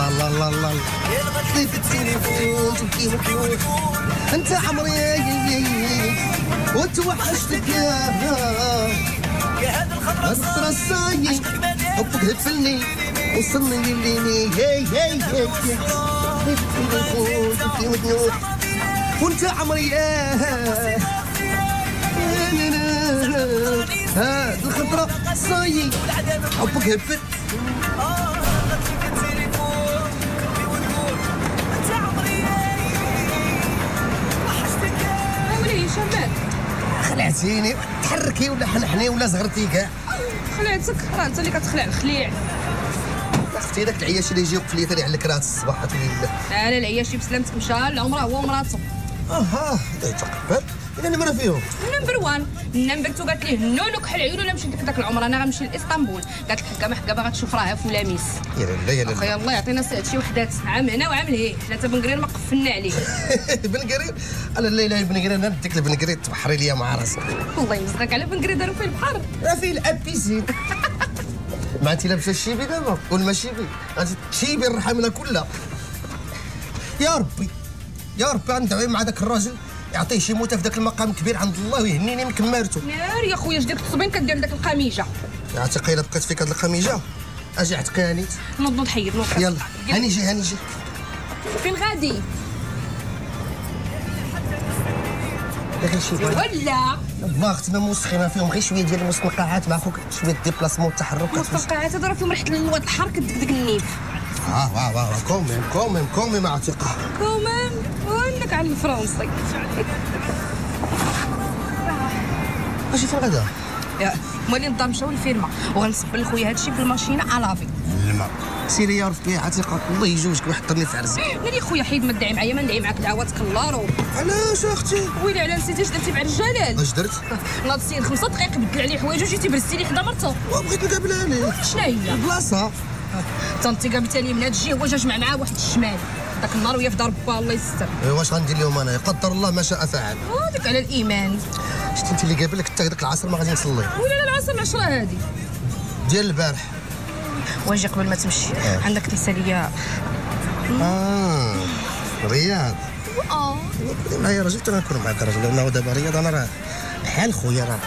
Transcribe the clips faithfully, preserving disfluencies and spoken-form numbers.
الله الله الله الله. في التليفون تبكي وتقول انت عمري وتوحشتك يا هاد الخطرة الصاي حبك هبلني وصلني لليني هاي هاي هاي. في التليفون تبكي وتنوح وانت عمري يا هاد الخطرة صاي حبك هبل. خلعتيني، تحركي ولا حنحني ولا زغرتي كاع. خلعتك؟ راه انت اللي كتخلع الخليع. اختي داك العياشي اللي يجي يوقف لي ثاني على الكرات الصباح لله. لا لا العياشي بسلامتك مشى العمرة هو ومراته. اها يتقبل. الا نمره فيهم number واحد number اثنين قالت ليه non كحل عيون ولا مشيت لك داك العمرة انا غنمشي لاسطنبول. قالت لك حكا ما حكا باغا تشوف راها فلاميس. يا لا يا لا اخويا الله يعطينا سعد شي وحدات عام هنا وعام لهيه، حنا حتى بن قرير ما قفلنا عليه. بن قرير انا لا اله بن قرير انا نديك لبن قرير تبحري ليا مع راسك. الله يمسخك على بن قرير داروا فيه البحر راه فيه la piscine. ما انت لابسه الشيبي دابا قول ما شيبي غادي تشيبي الرحمله كلها. يا ربي يا ربي غندعي مع داك الراجل يعطيه شي موته في ذاك المقام الكبير عند الله ويهنيني من كمارته. نار يا خويا اش ديك التصبين كدير داك القميجه. يا عتيقه الا بقيت فيك هاد القميجه اجي عتقيها نيت. نوض نوض حيد نوض. يلا هاني جي هاني جي. فين غادي؟ غير شي ولا ما اختي ما موسخين فيهم غير شوية ديال المستنقعات مع خوك شوية déplacement التحرك. المستنقعات هادو راه فيهم ريحه الواد الحار كدكدك النيف. اه واه واه quand même quand même quand même عتيقه quand même وانك على الفرنسي. اجي فين غادا؟ يا مولي الدار مشاو للفيرما وغنصب لخويا هادشي في ال machine à laver. الماء سيري يا ربي عتيقه الله يجوزك ويحطني في عرسك. ناري خويا حيد ما تدعي معايا ما ندعي معاك دعواتك اللارو. علاش اختي؟ ويلي على نسيتي اش درتي مع الجلال؟ اش درت؟ ناض السيد خمسة دقائق بدل عليه حوايجو جيتي برستي لي حدا مرتو. وبغيت نقابلها ليه. شنو هي؟ البلاصة. انت قابلتها لي من هاد الجهة هو جا جمع معاه واحد الشمال داك النهار وهي في دار با الله يستر. ايوا واش غندير لهم انا؟ قدر الله ما شاء فعل. هذيك على الايمان. شتي انت اللي قابلك حتى داك العصر ما غادي نصلي. ولا لا العصر العشرة هادي ديال البارح. واجي قبل ما تمشي آه. عندك تنسى ليا اه رياض. اه كوني معايا راجل حتى نكون معاك راجل لانه دابا رياض انا راه بحال خويا راه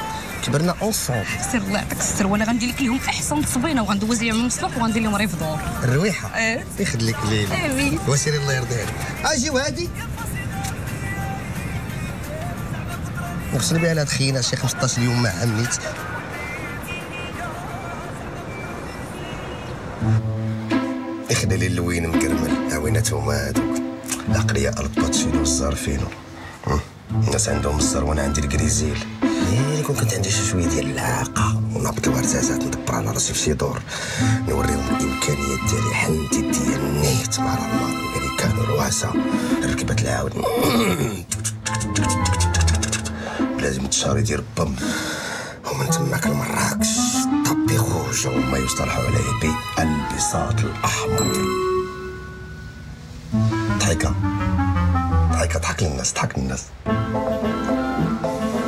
كبرنا ensemble. سير الله يعطيك الستر وانا غندير لك لهم احسن تصبينه وغندوز لهم المصلح وغندير لهم ريفدور. الرويحه اه يخليك ليلي. امين. وسيري الله يرضي عليك. اجي وهادي نغسل بها لهاد خينا شي خمسطاش يوم ما عملت. يخلي لي اللوين مكرمل عويناتهم هادوك العقلية الباتشينو والزارفينو. الناس عندهم الزر وانا عندي الكريزيل. إيه كون كنت عندي شي شوية ديال العاقه ونهبط الورزازات ندبر على راسي في شي دور نوريهم الامكانيات ديالي حنتي ديال نيت مع الالمان الامريكان الرواسه ركبه العاود لازم تشاري ديال بام ومن تماك لمراكش tapis rouge وما يصطلح عليه بالبساط الاحمر. ضحكه ضحكه ضحك للناس ضحك للناس.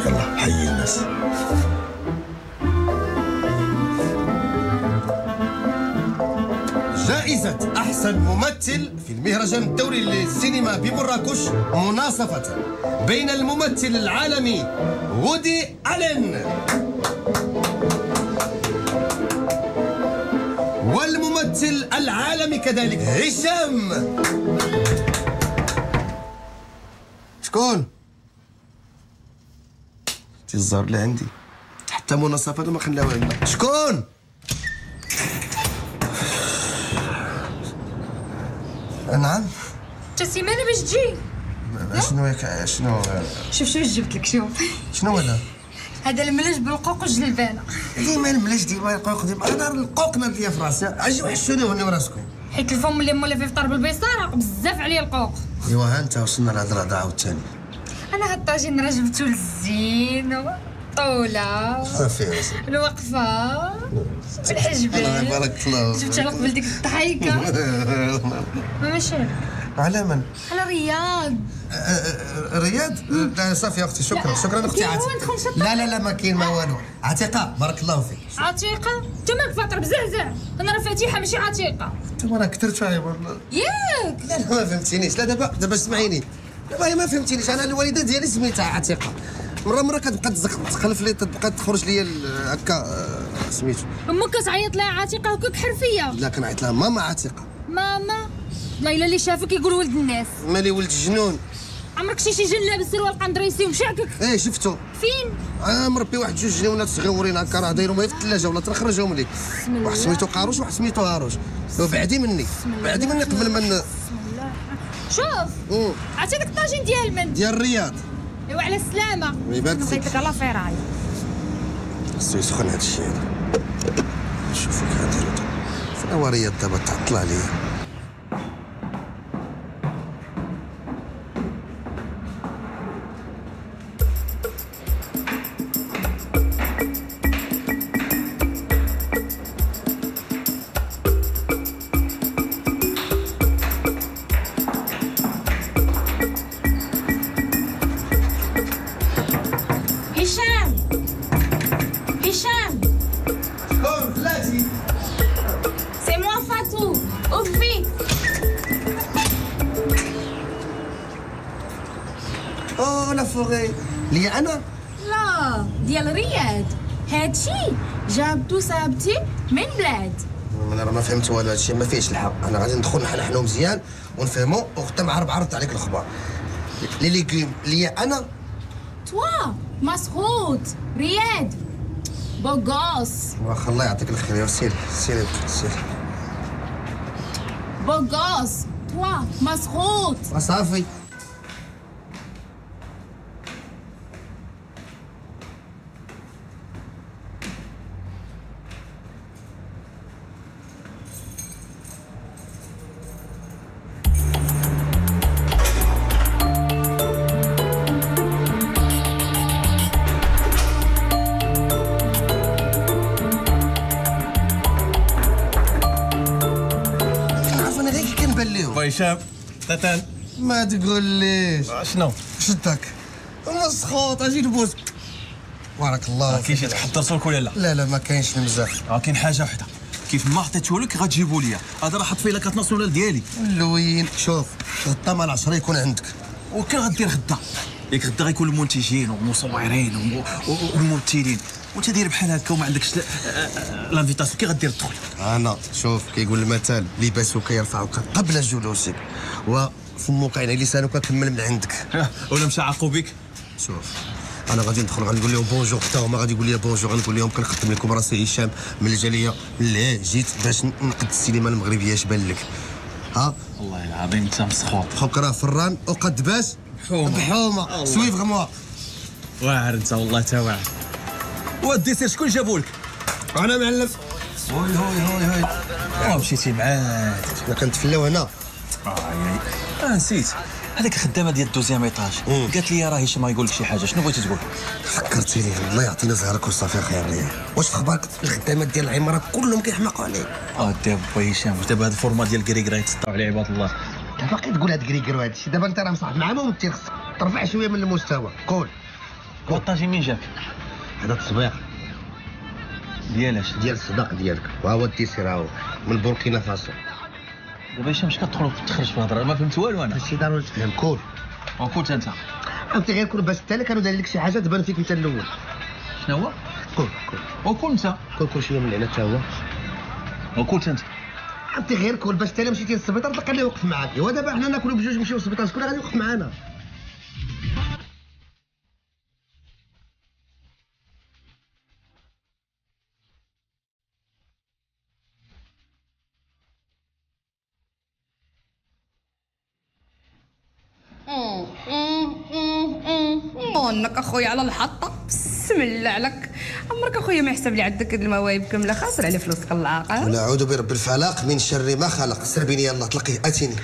يلا حيي الناس. جائزة أحسن ممثل في المهرجان الدولي للسينما بمراكش مناصفة بين الممثل العالمي وودي ألين والممثل العالمي كذلك هشام. شكون؟ الزهر اللي عندي حتى مناصفة ما خلاوها لنا. شكون؟ نعم؟ انت سيمانه باش تجي؟ شنو ياك شنو؟ شوف شوف جبت لك شوف. شنو هذا؟ هذا الملج بالقوق والجلبانه. ديما الملج ديما القوق ديما انا القوق ناد ليا في راسي. اجي وحشوني وهنيو راسكم. حيت الفم اللي مولا فيه فطر بالبيصاره بزاف عليه القوق. ايوا ها انت وصلنا لهاد الهضرة عاوتاني. انا هاد الطاجين راه جبتو للزين الطولة صافي الوقفة الحجبان. بارك الله. جبت على قبل ديك الضحيكه. ما ماشي عليك. على من؟ على رياض. رياض؟ لا صافي اختي، شكرا شكرا اختي عتيقه. لا لا لا ما كاين ما والو. عتيقه بارك الله فيك. عتيقه؟ انت مالك فاطر بزعزع؟ انا راه فاتحة ماشي عتيقه. انت راه كثرت والله. ياك؟ لا لا ما فهمتينيش. لا دابا دابا اسمعيني، دابا هي ما فهمتينيش. انا الوالدة ديالي سميتها عتيقه، مرة مرة كتبقى تخلف لي، تبقى تخرج لي هكا سميتو. امك كتعيط لها عتيقه وكك حرفية؟ لا كنعيط لها ماما عتيقه. ماما؟ والله الا اللي شافك يقول ولد الناس. مالي ولد الجنون؟ عمرك شي شي جن لابس سروال قندريسي ومشعكك؟ ايه شفتو. فين؟ انا مربي واحد جوج جنونات صغيورين هكا راه دايرهم غير في الثلاجة ولا تنخرجهم لك. واحد سميتو قاروش وواحد سميتو هاروش. بعدي مني بعدي مني قبل ما ن... شوف عرفتي داك الطاجين ديال من؟ ديال الرياض. ايوا على السلامة. يبارك فيك. بغيت لك الله في راي. خصو يسخن هذا الشيء هذا. شوفوا كي غنديرو فين هو رياض دابا تعطل عليا. هشام هشام شكون بلاتي؟ c'est moi فاتو ouvre vite. oh la forêt ليا انا؟ لا ديال رياض. هادشي جابتو صاحبتي من بلاد. انا راه ما فهمت والو، هادشي ما فيهش الحق. انا غادي ندخل نحنحنو مزيان ونفهمو وغدا مع ربعة رد عليك الخبار. les légumes ليا انا؟ toi مسخوط رياض beau gosse. واخا الله يعطيك الخير. سير سير سير. beau gosse toi مسخوط. صافي. هشام تاتان ما تقوليش شنو شدك مسخوط. اجي نبوس. بارك الله فيك. كاين شي تحضرتو لك ولا لا؟ لا لا ما كاينش المزاح. اه كاين حاجة وحده كيف ما عطيته لك غتجيبو ليا. هذا راه حط فيه la carte nationale ديالي. اللوين شوف غدا مع العشرة يكون عندك. وكان غدير غدا ياك؟ غدا غيكون المنتجين والمصورين والممثلين وانت داير بحال هكا وما عندكش l'invitation كي غدير تدخل؟ انا شوف كيقول المثل لباسك يرفعك قبل جلوسك وفمك يعني لسانك كمل من عندك. ولا مشى عاقوا بك؟ شوف انا غادي ندخل غنقول لهم bonjour، حتى هما غادي يقول لي bonjour. غنقول لهم كنخدم لكم راسي هشام من الجالية اللي جيت باش نقد السينما المغربية. اش بان لك؟ ها والله العظيم انت مسخوط. خوك راه فران وقد باش بحومه بحومه suivez-moi. واعر انت والله تا واعر. وال dessert شكون جابو لك؟ انا معلم. هوي هوي هوي هوي. اه مشيتي معاك. حنا كنتفلاو هنا. اه اه نسيت هذيك الخدامة ديال ال deuxième étage قالت لي راه هشام يقول لك شي حاجة. شنو بغيتي تقول؟ فكرتيني الله يعطينا زهرك وصافي خير ليا. واش في اخبارك الخدامات ديال العمارة كلهم كيحماقوا عليك؟ اه دابا هشام دابا هاد ال forme ديال كريكرا يتسطاو على عباد الله. دابا باقي تقول هاد كريكرا وهاد الشيء. دابا انت راه مصاحب مع ممثل خصك ترفع شوية من المستوى. قول والطاجين مين جاك؟ هذا التصبيح ديالاش؟ ديال الصداق ديالك. وها هو ال dessert هاهو من بوركينا فاسو. دابا هشام اش كتدخل وتخرج في الهضرة؟ ما فهمت والو انا. ماشي ضروري تفهم. كول وكول انت. عرفتي غير كول باش حتى كانوا دايرين لك شي حاجة تبان فيك انت الاول. شنو هو؟ كول كول وكول انت. كول كول شوية من هنا حتى هو. وكول انت. عرفتي غير كول باش حتى مشيتي للسبيطار تلقى اللي يوقف معاك. ايوا دابا حنا ناكلوا بجوج نمشيو للسبيطار شكون غادي يوقف معانا؟ مونك اخويا على الحطه. بسم الله عليك. عمرك اخويا ما يحسب لي عندك المواهب كاملة. خاسر على فلوسك العاقه. ونعوذ برب الفلق من شر ما خلق. سربيني يلا تلقي اتيني.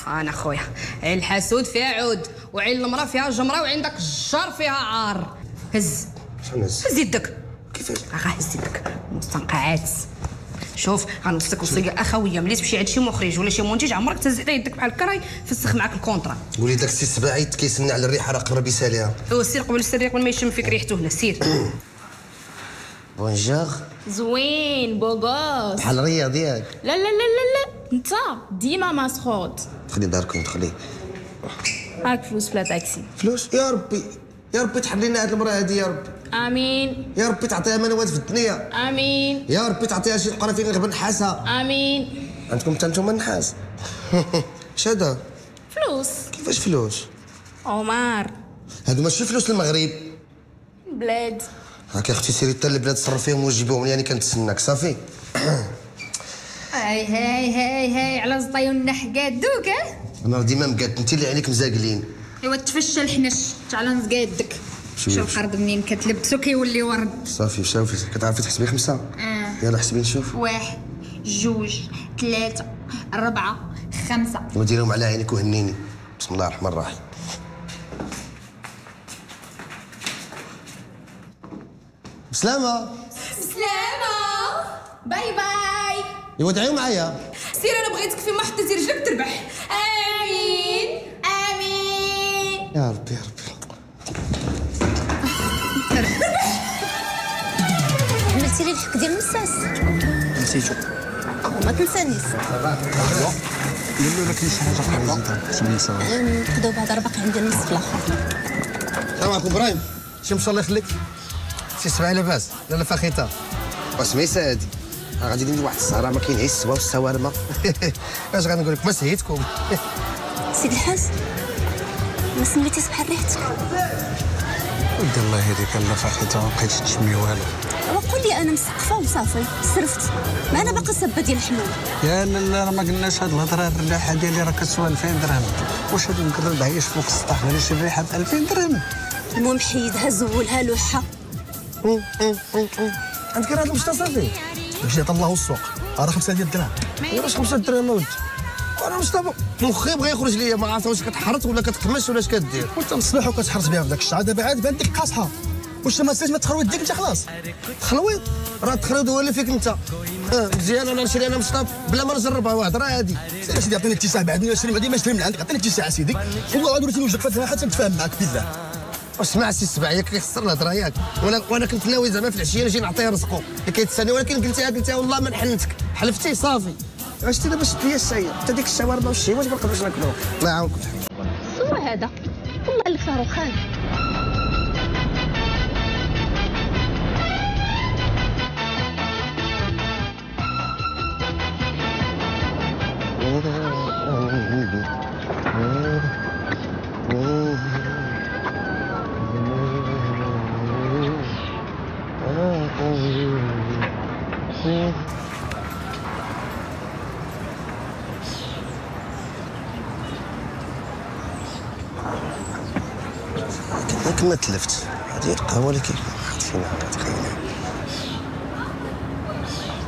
انا خويا عين الحسود فيها عود وعين المراة فيها جمرة وعين داك الجار فيها عار. هز شنو هز؟ هز يدك. كيفاش؟ غا هز يدك. مستنقعات. شوف غنوصيك وصية اخويه، ملي تمشي عند شي مخرج ولا شي منتج عمرك تهز حتى يدك بحال الكراي فسخ معاك ال contrat. قولي داك السي السباعي كيسنى على الريحة راه قرب يساليها. هو سير قبل السرية قبل ما يشم فيك ريحته هنا سير. bonjour. زوين beau gosse بحال رياض ياك؟ لا لا لا لا لا انت ديما مسخوط. دخلي داركم دخلي. هاك فلوس بلا تاكسي. فلوس؟ يا ربي يا ربي تحل لنا هاد المراة هادي يا ربي. امين. يا ربي تعطيها منوات في الدنيا. امين. يا ربي تعطيها شي قرا فين غير نحاسها. امين. عندكم حتى نتوما النحاس؟ اش هذا؟ فلوس. كيفاش فلوس؟ عمر هادو ماشي فلوس المغرب. بلاد. هاك يا اختي سيري حتى البلاد صرفيهم وجيبيهم لي، انا كنتسناك صافي. هاي هاي هاي هاي على زطيون نحقادوك. انا ديما مقاد، انت اللي عينيك مزاقلين. ايوا تفشى الحنش تعال نزقادك. شوف القرد منين كتلبسو كيولي ورد. صافي شوفي كتعرفي تحسبي خمسة؟ اه يلا حسبي نشوف. واحد جوج ثلاثة أربعة خمسة. وديرهم على عينك وهنيني. بسم الله الرحمن الرحيم. بسلامة. بسلامة. bye bye. ايوا دعيو معايا. سير انا بغيتك فيما حطيتي رجلك تربح. امين امين يا ربي يا ربي. عملتي لي الحك ديال المساس؟ نسيتو. ما تنسانيش. لا لا كاين شي حاجة اخرى. نقداو بعدا راه باقي عندي النص في الاخر. السلام عليكم ابراهيم. شي مشى الله يخليك. سي سبعة لاباس؟ لا لا فاخيته. وسميسه هادي غادي ندير واحد السهرة ما كاين غير السوا والسوارمه. اش غنقول لك ما سهيتكم. سيد الحاج ما سميتيش بحال ريحتك. ودي الله يهديك لا فاخيته ما بقيتش تشمي والو. وقول لي انا مسقفه وصافي صرفت، ما انا باقا سبه ديال الحلول. يا لا لا راه ما قلناش هاد الهضرة. الريحة ديالي راه كتسوى ألفين درهم. واش هاد المقرب عايش فوق السطح غير شي ريحه ب ألفين درهم؟ المهم حيدها زولها لوحها. عندك راه المشطه صافي. مشيت عطا الله السوق راه خمسة ديال الدراهم. واش خمسة دراهم اودي؟ انا مشطه مخي بغى يخرج ليا ما عرفت واش كتحرط ولا كتقمش ولا اش كدير. وانت مصباح وكتحرط بها في ذاك الشعر دابا عاد بان لك قاصحة. واش ما تسالش ما تخرويط ديك انت خلاص؟ تخلويط راه التخلويط هو اللي فيك انت. مزيان انا نشري انا مشطه بلا ما نجربها واحد راه عادي. سير سيدي عطيني اتساع بعد نشري بعدين ما نشري من عندك. عطيني اتساع سيدي والله غادي وريتني وجهك فاتها حتى نتفاهم معاك بالله. واسمع سي السبع ياك كيخسر الهضرة ياك. وانا وانا كنت ناوي زعما في العشية نجي نعطيه رزقو اللي كيتساني، ولكن قلتيها قلتيها والله ما نحنتك. حلفتي صافي. عشتي دابا شد ليا الشاي حتى ديك الشاورما والشيواش ما نقدروش ناكلوه. الله يعاونكم. سوا هذا والله لك صاروخان. كما تلفت هذه القهوة اللي كاين واحد فينا تخيلها.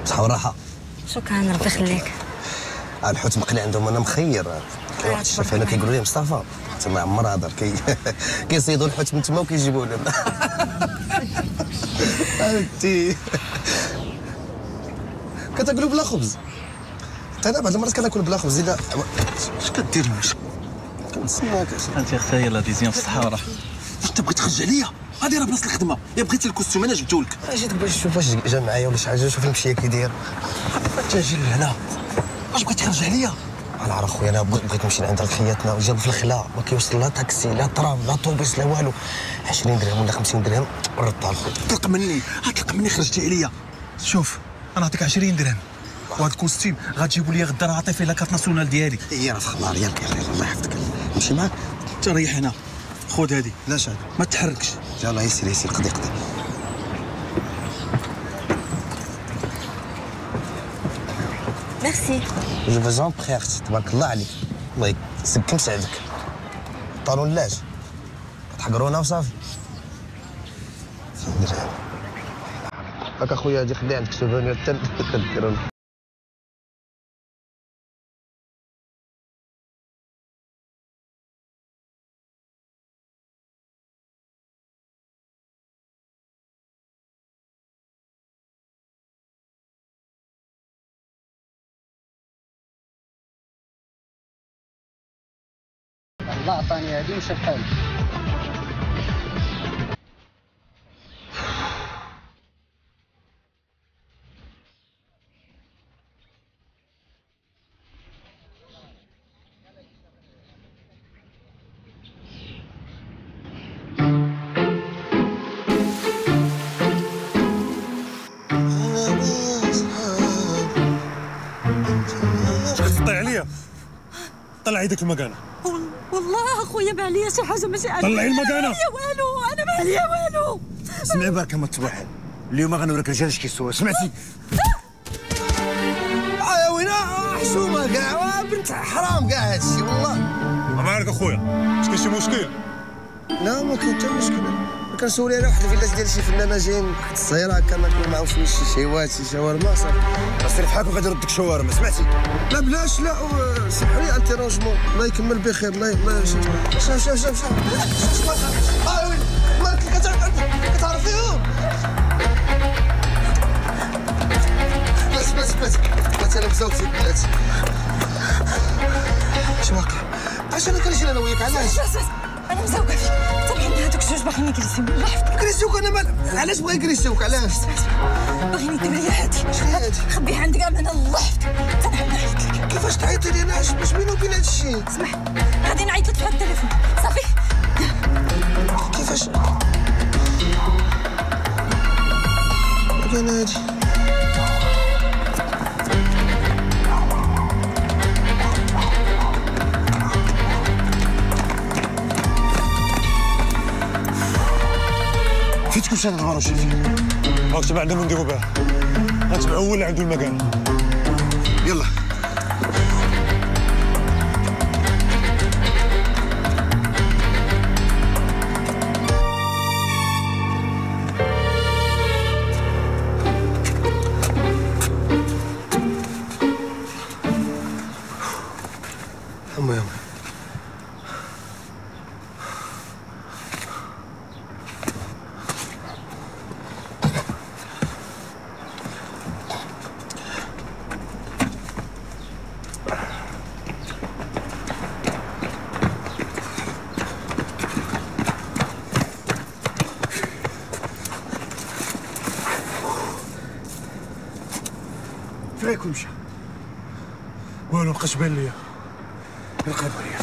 بصحة وراحة. شكرا ربي يخليك. الحوت مقلي عندهم انا مخير. كاين واحد الشيف هنا كيقولوا لي مصطفى تما عمر هضر كي كيصيدوا الحوت من تما وكيجيبوه لنا. انتي كتاكلوا بلا خبز؟ حتى انا بعض المرات كناكل بلا خبز. الا اش كدير؟ كنتسناك. انت اختي يلاه ديزيان في الصحة والراحة. واش انت بغيت تخرج عليا؟ هادي راه بلاصة الخدمة. يا بغيتي ال costume انا جبتو لك. جيتك باش نشوف واش جا معايا ولا شي حاجة. شوف المشية كي داير. انت اجي لهنا واش بغيت تخرج عليا؟ انا عارف خويا انا بغيت نمشي لعند الخياتنا وجاب في الخلا ما كيوصل لا تاكسي لا ترام لا طوبيس لا والو. عشرين درهم ولا خمسين درهم ردها لخويا. طلق مني طلق مني خرجتي عليا. شوف انا نعطيك عشرين درهم وهاد ال costume غتجيبوا لي غدا راه عطي فيه la carte nationale ديالي. هي راه في خبار ياك. الله يحفظك نمشي معاك. انت ريح هنا خذ هادي. لا شاد ما تحركش. يلاه يسير يسير قضي قضي. merci. je vous en prie اختي تبارك الله عليك. الله يسكم سعدك. talon لاش تحقرونا وصافي. هاك اخويا هادي خلي عندك souvenir حتى ديرو. الله عطاني هادي ومشى بحالي. طلعي يدك المكانة. والله اخويا ما عليا شي حاجة، ماشي انا. طلعي المكانة. ما عليا والو، انا ما عليا والو. سمعي بركة ما تبوحل، اليوم غنوريك الرجال اش كيسوا، سمعتي؟ آه وينا حشومه كاع، بنت حرام كاع هادشي والله. ما عارف اخويا، واش كاين شي مشكل؟ لا ما كاين حتى مشكل. كنسولي على واحد الفيلاج ديال شي فنانة جايين واحد الصغيرة هكا ناكلو معاهم شوية شي شهيوات شي شاورما صافي. سير فحالك وغادي نردك شاورما، سمعتي؟ لا بلاش، لا سمحوا لي un dérangement، الله يكمل بخير. الله الله شوف شوف شوف شوف اه وين مالك كتعرفيهم؟ بس بس بس بس انا مزوجتي بلاتي. اش واقع؟ علاش انا كنجري انا وياك؟ علاش؟ انا مزوقه فيك، تابعيني هذوك الجوج باغيين يجلسوا الله يحفظك. يجلسوك؟ انا مال علاش بغا يجلسوك؟ علاش؟ باغيين يديروا لي هادي. شنو هادي؟ خبيها عندك امانه الله يحفظك، حتى نعاود نعيط لك. كيفاش تعيطي لي انا؟ اش بيني وبين هاد الشيء؟ اسمح، غادي نعيط لك في هاد التليفون صافي. كيفاش؟ انا هادي فين تكون شاد الباروشي فين؟ راك تبع عندنا نديرو بها، غتبع هو اللي عنده المكان. يلا المهم فين غيكون مشى؟ والو مبقاش بان ليا. نقلبوا عليا.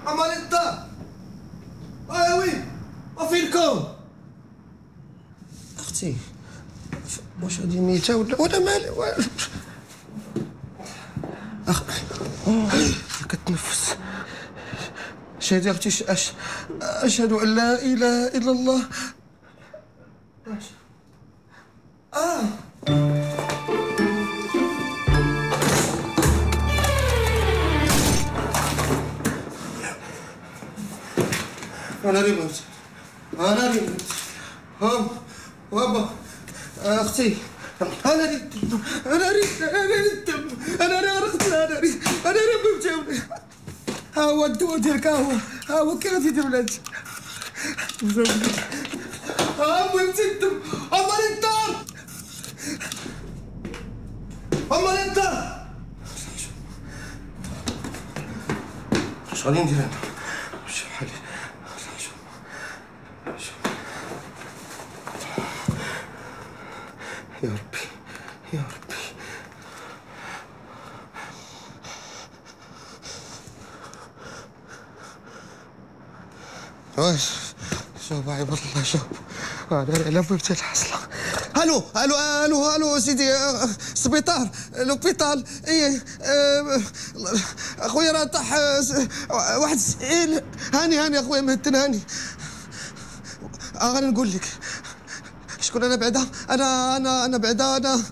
اماليتا ايوي وفينكم اختي؟ واش هادي ميته ولا ولا مالي؟ اخ كتنفس. شهدي اختي، أش... اشهد ان لا اله الا الله. اه انا اللي بغيت، انا اللي بغيت. هم بابا اختي، انا اللي انا اللي انا اللي انا اللي غرقت، انا اللي انا اللي بغيت. ها هو الدواء ديالك، ها هو ها هو كي غادي يدير ولادك. ها مهمتي الدم. عمري الدار، عمري الدار. اش غادي ندير انا؟ شوف حالي. يا ربي يا ربي. واش شوف عباد الله، شوف انا على بوبتي الحصله. الو الو الو الو سيدي، السبيطار l'hôpital. ايه اخويا راه طاح واحد السئيل. هاني هاني اخويا مهتن هاني. غادي نقول لك شكون انا بعدا. انا انا انا بعدا انا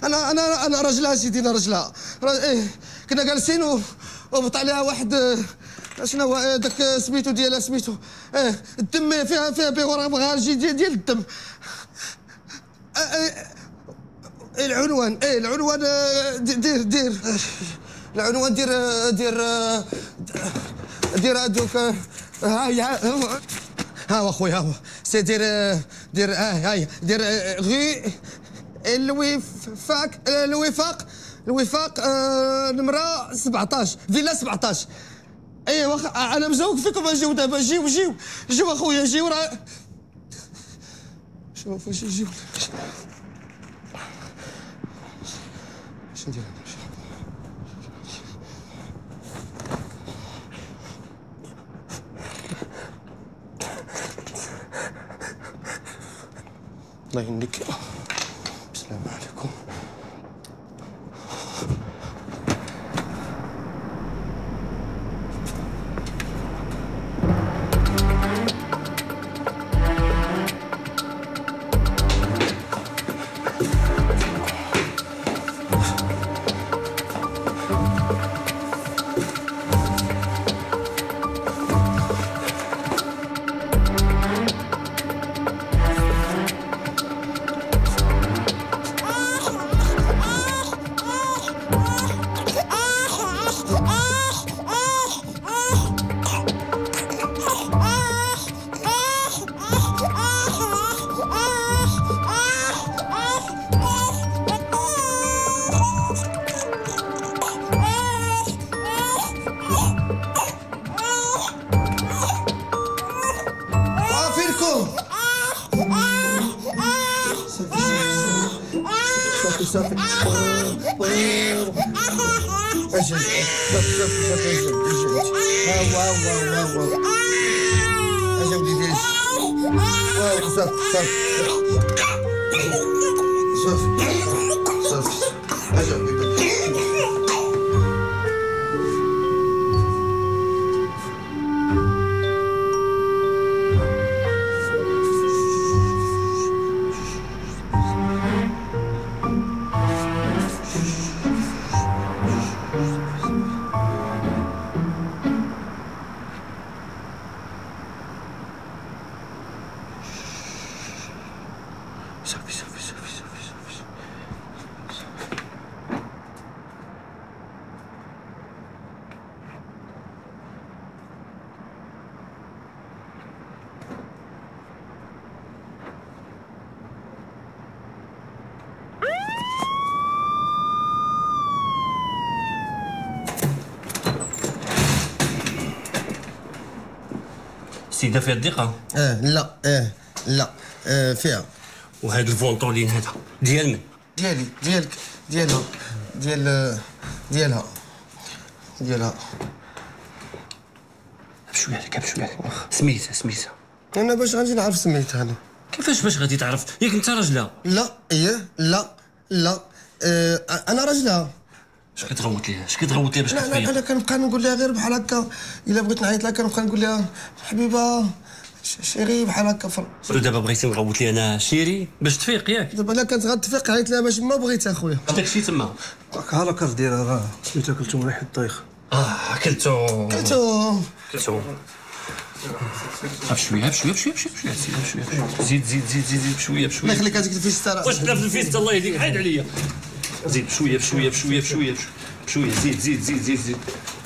انا انا انا راجلها سيدي، انا راجلها. ايه كنا جالسين وهبط عليها واحد شنو هو داك سميتو ديالها سميتو ايه الدم فيها فيها بيغورافاجي ديال, ديال الدم. العنوان ايه العنوان دير دير العنوان دير دير دير هذوك. هاي ها هو اخويا، ها هو سي دير دير اه هاي دير غي الوفاق الوفاق الوفاق آه نمره سبعطاش فيلا سبعطاش. ايه واخا انا مزوق فيكم. اجيو دابا، جيو جيو جيو اخويا جيو. راه شوف واش يجيو. اش ندير انا؟ الله يهنيك. السلام عليكم. صافي اجي صافي صافي صافي اجي اجي ها هو ها هو ها هو اجي وليدي اجي. صافي صافي صافي صافي اجي حبيبي. صافي صافي صافي. السيدة فيها الضيقه؟ اه لا اه لا آه فيها. وهذا الفونطولين هذا ديال من؟ ديالي ديالك ديالها ديال ديالها ديالها. بشوية عليك بشوية عليك. سميتها سميتها انا باش غادي نعرف سميتها انا؟ كيفاش باش غادي تعرف؟ ياك انت راجلها؟ لا ايه لا لا اه انا راجلها. اش كتغوت ليها؟ اش كتغوت ليها باش كتفيق؟ لا لا انا كنبقى نقول لها غير بحال هكا، الا بغيت نعيط لها كنبقى نقول لها حبيبه chérie بحال هكا. دابا بغيتي نغوت لي انا chérie باش تفيق ياك؟ دابا الا كانت غتفيق عيط لها باش ما بغيت اخويا. داكشي تما ها la carte ديالها راه سميتها كلثوم ريحه الطيخ. اه كلثوم كلثوم كلثوم. بشوية بشوية بشوية بشوية بشوية بشوية زيد زيد زيد زيد بشوية بشوية. الله يخليك هذيك الفيستا راه واش حنا في الفيستا الله يهديك حيد عليا. زيد بشوية بشوية بشوية بشوية بشوية زيد زيد زيد زيد زيد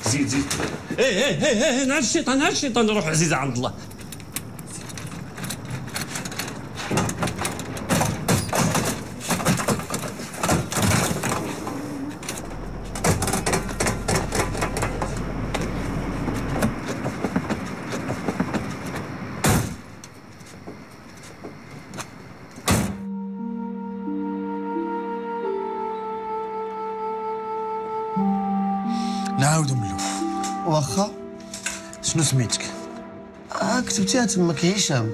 زيد زيد. ايه ايه ايه ايه نهار الشيطان نهار الشيطان روح عزيزه عند الله. نعاودو من الاول. واخا. شنو سميتك؟ اه كتبتيها تماك هشام.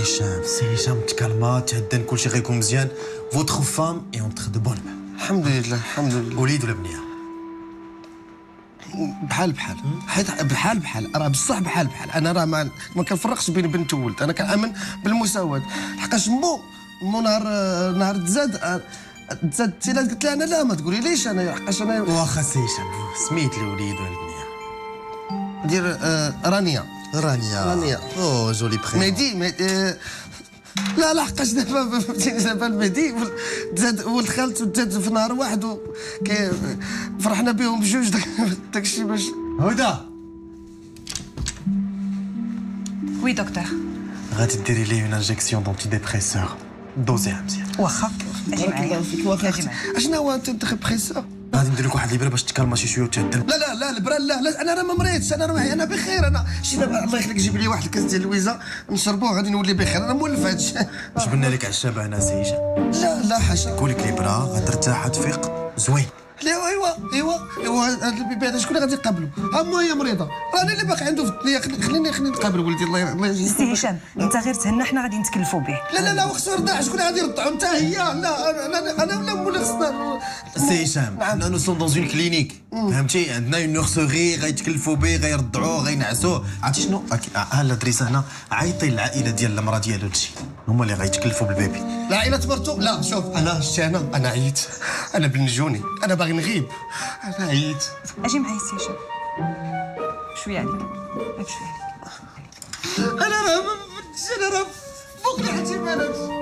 هشام سي هشام تكالما تهدن كلشي غيكون مزيان. votre femme est entre de bonnes mains. الحمد لله الحمد لله. وليد ولا بنيه؟ بحال بحال حيت بحال بحال راه بصح بحال بحال. انا راه ما, ما كنفرقش بين بنت وولد، انا كنامن بالمساواة. حقاش مو مو نهار نهار تزاد تزاد تيلات قلت لها انا لا ما تقولي ليش انا حقاش انا. واخا سي هشام سميت الوليد ولا البنية؟ دير آه رانيا. رانيا رانيا oh joli prénom. مهدي مهدي لا لا حقاش دابا فهمتيني دابا المهدي تزاد ولد خالته تزاد في نهار واحد و فرحنا بهم بجوج داك الشيء باش. هدى oui docteur. غادي ديري ليه une injection d'antidépresseur دوزيها مزيان. واخا بارك الله فيك. واخا اشنا هو antidépresseur؟ غادي ندير لك واحد الابره باش تكالما شي شوية وتهدن. لا لا لا الابره لا لا انا راه ما مريضش، انا راه انا بخير. انا شي دابا الله يخليك جيب لي واحد الكاس ديال اللويزه نشربوه غادي نولي بخير، انا مولف هادشي. جبنا لك عشابه هنا سي هشام. لا لا حاشا. كولك الابره غترتاح تفيق زوين. لا ايوا ايوا ايوا هذا ال bébé هذا شكون اللي غادي يقابلو؟ ها مو هي مريضه، راه انا اللي باقي عنده في الدنيا. خليني خليني نقابل ولدي الله الله يجزيك. سي هشام انت غير تهنى حنا غادي نتكلفوا به. لا لا لا وخصو يرضع، شكون اللي غادي يرضعو؟ انت هي لا انا انا ولا مولا خصنا. سي هشام حنا nous sommes dans une clinique فهمتي، عندنا une nurserie غيتكلفوا به غيرضعوه غينعسوه. عرفتي شنو؟ ها l'adresse هنا، عيطي للعائلة ديال المراة ديالو تجي هما اللي غيتكلفوا بال bébé. العائلة مرتو؟ لا شوف انا شتي انا انا عييت، انا بنجوني، انا باغي نغيب، انا عييت. اجي معايا سي هشام شوية عليك شوية عليك. انا راه انا راه فوق الاحتمالات.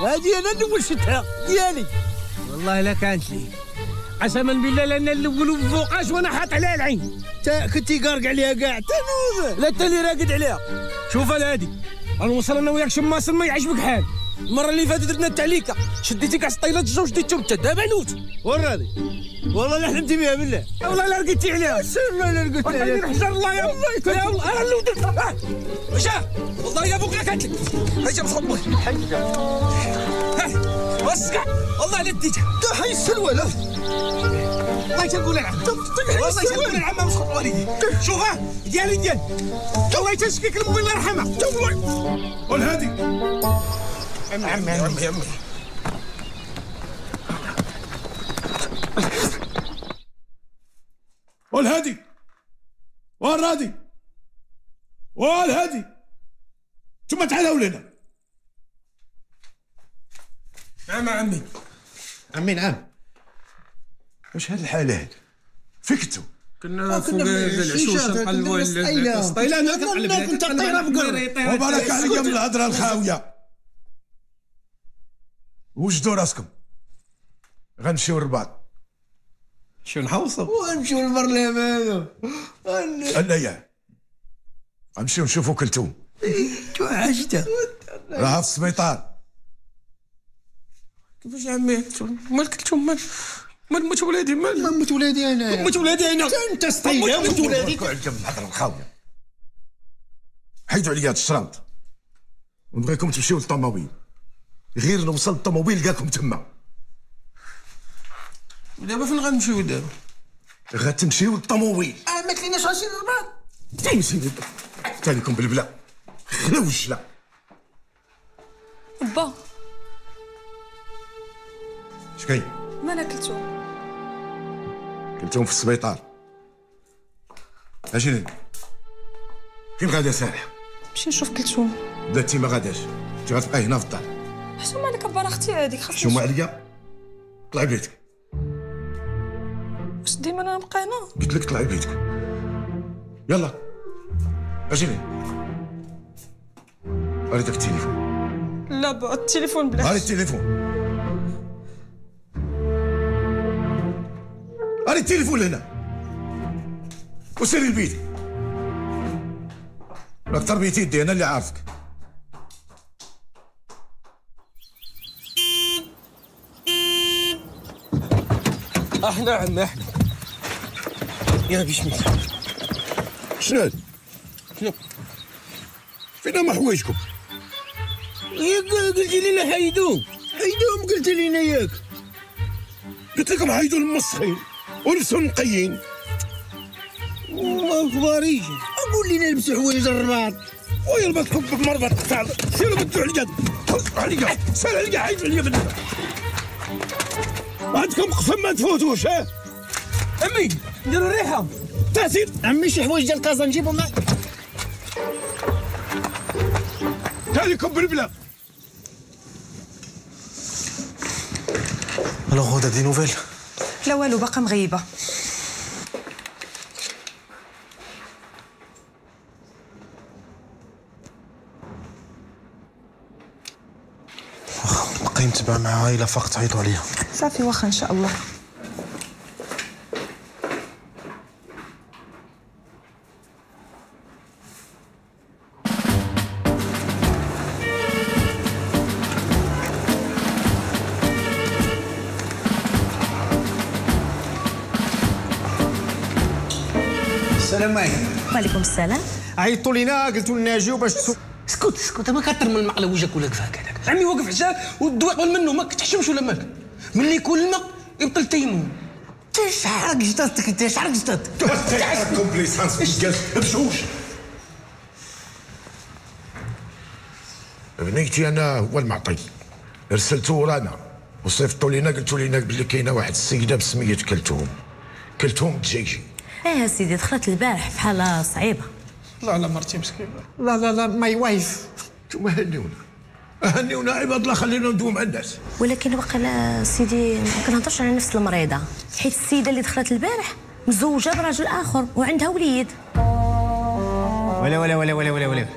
هادي انا الاول شتها ديالي والله لا كانت لي قسما بالله لان الاول وفوقاش وانا حاط عليها العين. تا كنتي قارق عليها كاع تنوض لا انت اللي راقد عليها. شوف الهادي غنوصل انا وياك شماس ما يعجبك حال. المرة اللي فاتت درنا التعليكه شديتي كاع سطيلات الجوج شديتهم انت دابا نوت وراني والله لا حلمتي بها بالله والله لا رقدتي عليها. والله لا رقدت عليها الحجر الله يا الله يا الله انا اللي درت مشى والله يا ابوك لا كانت لك هيا مصبر وسكع والله لا ديتها حي السلوى. لا والله تنقول العم والله تنقول العم مسخط والدي. شوف ها ديالي ديالي والله تنشكيك المهم الله يرحمها والله. والهادي عمي عمي عمي عمي والهادي والرادي والهادي ثم تعالوا لنا. نعم عمي عمي نعم. واش هاد الحالة هاد؟ فين كنتو؟ كنا فوق العشوشه نقلبوا السطيله. انا كنت طايره بقر. وبارك عليك من الهضرة الخاويه. وجدوا راسكم غنمشيو للرباط. نمشيو نحوصوا ونمشيو للبرلمان. لا يا غنمشيو نشوفوا كلثوم. توحشتها. راها في السبيطار. كيفاش عمي؟ مالك كلتهم؟ مال مال موت ولادي؟ مال موت ولادي انا؟ موت ولادي انا؟ انت سطيله موت ولادي. عليكم الهضرة الخاويه. حيدوا عليا هاد الشرنط ونبغيكم تمشيو للطوموبيل. غير نوصل للطوموبيل لقاكم تما. ودابا فين غنمشيو دابا؟ غتمشيو للطوموبيل. اه ما كليناش غنمشي للرباط. تمشي حتى لكم بالبلا خلاو الجلا. با اش كاين؟ ما كلتهم. كلتهم في السبيطار. اجي فين غادا سارحه؟ نمشي نشوف كلتهم. لا انت ما غاداش، انت غتبقاي هنا في الدار. حشومه عليك با، راه اختي هذيك خاصني. حشومه عليا؟ طلعي بيتك. واش ديما انا نبقى هنا؟ قلت لك طلعي بيتك. يلا اجي لي. اري داك التليفون. لا با التليفون بلاش. اري التليفون. اري التليفون لهنا وسيري البيت. راك تربيتي يدي انا اللي عارفك. احنا عمي احنا. يا بسم الله. شنو هذا؟ شنو؟ فين هما حوايجكم؟ ياك قلتي لينا حيدوهم، حيدوهم قلت لينا ياك. قلت لكم حيدوا المسخين ولبسوا النقيين. ما كباريش، قول لينا لبسوا حوايج الرباط. ويربطكم بمربط تاع سيروا بدلوا عليا، عليا، سير عليا، حيدوا عليا بالله. عندكم قسم ما تفوتوش. ها عمي نديروا الريحة. تاسير عمي شي حوايج ديال كازا نجيبهم معاك. تاليكم بالبلا. Alors غدا des nouvelles؟ لا والو باقا مغيبه. واخا بقاي متبع معاها، الا فاقت عيطوا عليا. صافي واخا ان شاء الله. السلام عليكم. وعليكم السلام. عيطوا لينا قلتوا لنا اجيو باش تسو. اسكت اسكت، ما كتر من المقله وجهك ولا كفاك هذاك. عمي واقف حجاك والدواء قبل منه، ما كتحشمش ولا مالك؟ ملي يكون الماء يبطل التيمم. انت شعرك جدادتك، انت شعرك جدادتك. تعرفكم بليسانس بشوش. بنيتي انا هو المعطي، رسلتو ورانا وصيفطوا لينا قلتوا لينا بلي كاينه واحد السيدة بسميه كلثوم، كلثوم الدجاجي. ايه سيدي دخلت البارح في حاله صعيبة. لا لا مرتي مسكينه. لا لا لا my wife. انتوما هنيونا هنيونا عباد الله، خلينا ندوي مع الناس. ولكن وقيلا سيدي ما كنهضرش على نفس المريضة، حيت السيدة اللي دخلت البارح مزوجه براجل اخر وعندها وليد. ولا ولا ولا ولا ولا ولا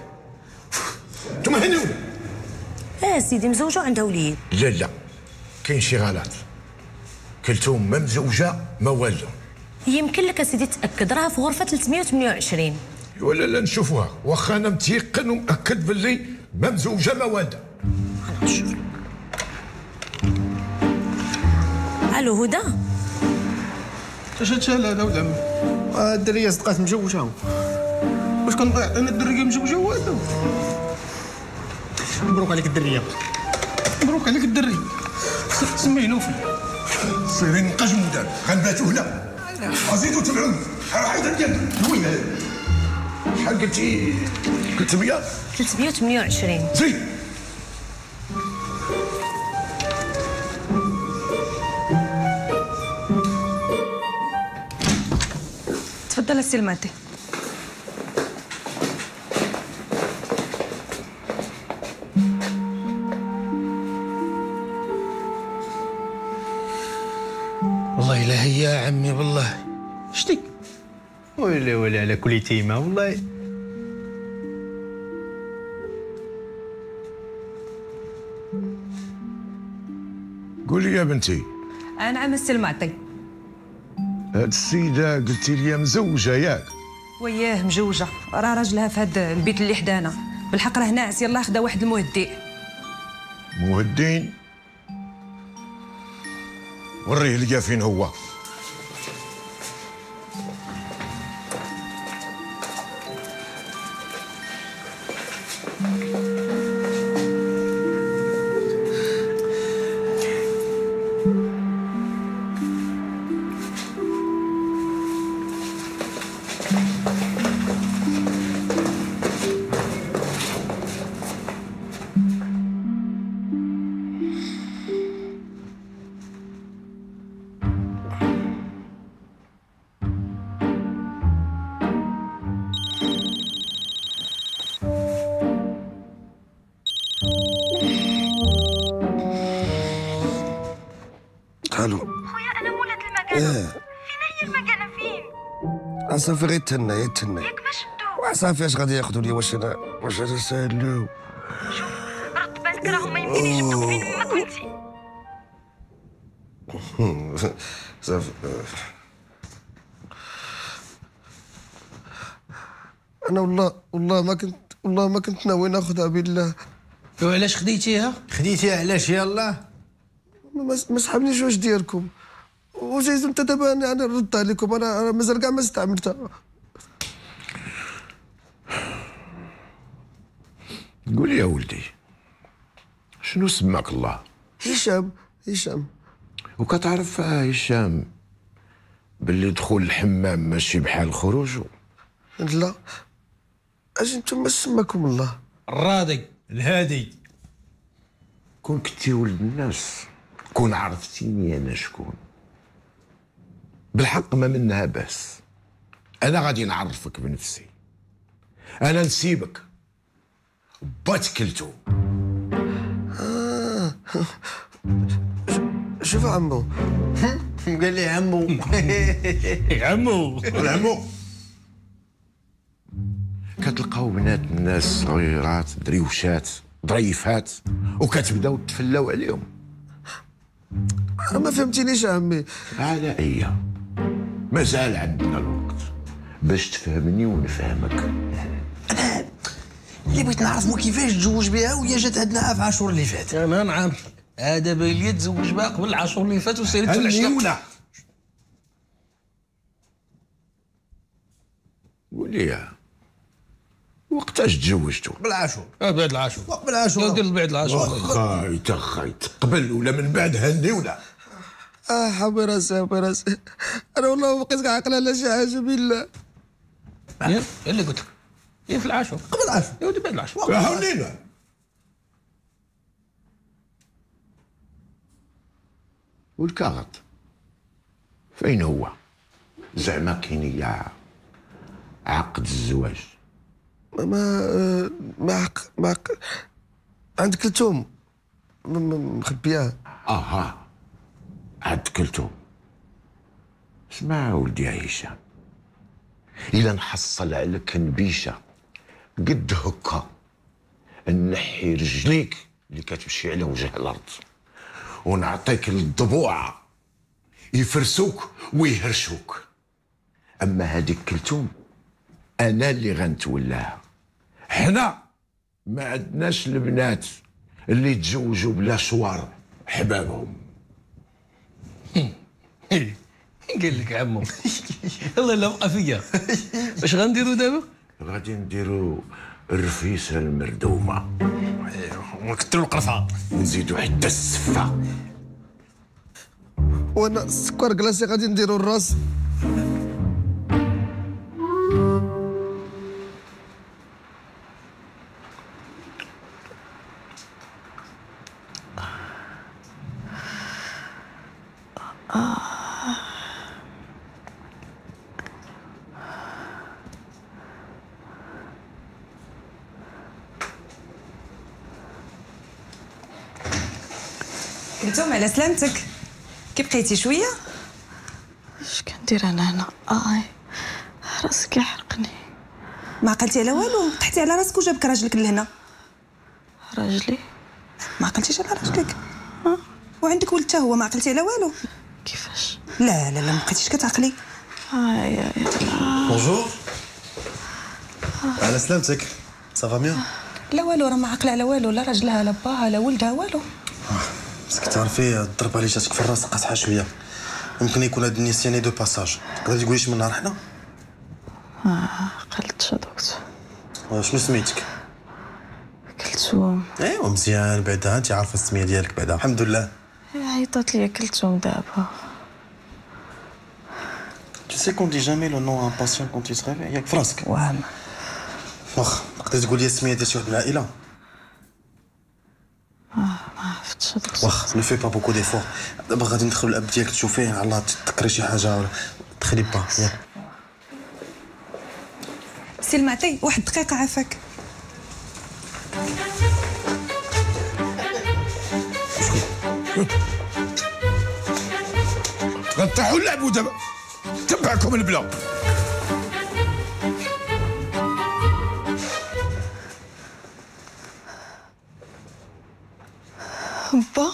انتوما هنيونا. اه سيدي مزوجه وعندها وليد. لا لا كاين شي غلط، كلثوم ما مزوجه ما والو. يمكن لك اسيدي تاكد راها في غرفة ثلاثمية وثمانية وعشرين. ولا لا نشوفوها، واخا انا متيقن ومأكد باللي ما مزوجه ما والده. انا نشوف. الو هدى. اش هادشي هذا ولد عمي؟ الدريه صدقات مجوجه. واش كنبغي انا الدريه مجوجه والو؟ مبروك عليك الدريه. مبروك عليك الدري. سميه نوفل. سيرين نقجمو دابا، غنباتو هنا. زيدوا تبعوني، حيد عليا. وين شحال قلتي؟ ثلاثمية؟ ثلاثمية وثمانية وعشرين. زيد. تفضل السي المعطي. والله لا هي يا عمي والله شتي ويلي ويلي على كل تيمة والله. قولي يا بنتي. نعم السي المعطي. هاد السيدة قلتي لي مزوجة ياك؟ وياه مزوجة، راه راجلها في هاد البيت اللي حدانا، بالحق راه ناعس، يلاه خدا واحد المهدئ. مهدئ؟ وريه ليا فين هو. الو خويا انا مولات المكانة. إيه. فين هي المكانة فين؟ صافي غير تهنى غير تهنى. ياك ما شدو؟ صافي اش غادي ياخذوا لي؟ واش انا واش انا سالو؟ شوف رد بالك راهم يمكن يجبدوك فين ما كنتي. صافي انا والله والله ما كنت والله ما كنت ناوي ناخذها بالله. وعلاش خديتيها؟ خديتيها علاش؟ يلاه ما سحبنيش واش ديالكم وزيد انت دابا انا نرد عليكم. انا انا مازال كاع ما استعملتها. قول يا ولدي شنو سماك الله؟ هشام. هشام. وكتعرف هشام باللي دخول الحمام ماشي بحال خروجه؟ لا. اش انتم سماكم الله؟ الراضي الهادي. كون كنتي ولد الناس كون عرفتيني انا شكون. بالحق ما منها باس، انا غادي نعرفك بنفسي. انا نسيبك بات كلتو. آه. شوف عمو. قال لي عمو. عمو عمو. كتلقاو بنات الناس صغيرات دريوشات ظريفات وكتبداو تفلاو عليهم. ما فهمتينيش عمي. على اي مازال عندنا الوقت باش تفهمني ونفهمك. انا اللي بغيت نعرف هو كيفاش تزوج بها وهي جات عندنا في عاشور اللي فات. انا نعرفك هذا باين لي تزوج بها قبل العاشور اللي فات وسيرت في العشية. قول لي وقتاش تزوجتو؟ قبل العاشور. اه بعد العاشور. قبل العاشور. دير بعد العاشور. خايت خايت قبل ولا من بعد هني ولا؟ اه حبي راسي حبي راسي انا والله ما بقيت عاقل على شي حاجة بالله. يا اللي قلت لك هي في العاشور. قبل العاشور. يا ودي بعد العاشور. هونينا. والكاغط فين هو؟ زعما كاين عقد الزواج. ما ما عق ما عق عند كلثوم مخبياه. اها عند كلثوم. اسمع ولدي هشام، الا نحصل عليك نبيشه قد هكا نحي رجليك اللي كتمشي على وجه الارض ونعطيك الضبوعه يفرسوك ويهرشوك. اما هذيك كلثوم انا اللي غنتولاها. حنا ما عندناش البنات اللي تزوجوا بلا شوار حبابهم. قال لك عمو الله لا بقى فيا. واش غنديروا دابا؟ غادي نديروا الرفيسه المردومه ونكثروا القرفه ونزيدوا حتى السفه. وانا السكر كلاصي غادي نديروا الراس. كلثوم على سلامتك، كي بقيتي شوية؟ اش كندير انا هنا؟ اي راسي كيحرقني. ما عقلتي على والو؟ طحتي على راسك وجابك راجلك لهنا. راجلي؟ ما عقلتيش على راجلك؟ أه؟ وعندك ولد حتى هو، ما عقلتي على والو؟ كيفاش؟ لا لا لا ما بقيتيش كتعقلي. اي اي bonjour. على سلامتك. ça va mieux؟ لا والو، راه ما عاقلة على والو، لا راجلها لا باها لا ولدها والو. بس كتعرفي الضربة اللي جاتك في الراس قاصحة شوية، يمكن يكون هاد النسيان de passage. تقدري تقولي من نهار حنا؟ ما عقلتش دكتور. شنو سميتك؟ كلثوم. ايوا مزيان، بعدا انت عارفه السمية ديالك بعدا، الحمد لله. عيطات ليا كلثوم دابا. Tu sais qu'on dit jamais le nom à un patient quand il se réveille. ياك فراسك؟ واه. واخا تقدري تقولي السمية ديال شي واحد من العائلة؟ ما عرفتش دكتور. واخا ne fais pas beaucoup d'efforts. دابا غادي ندخلو الاب ديالك تشوفيه، على الله تذكري شي حاجة ولا دخلي با. ياك سي المعطي واحد الدقيقة عافاك. غنطيحوا نلعبوا دابا، تبعكم البلا. با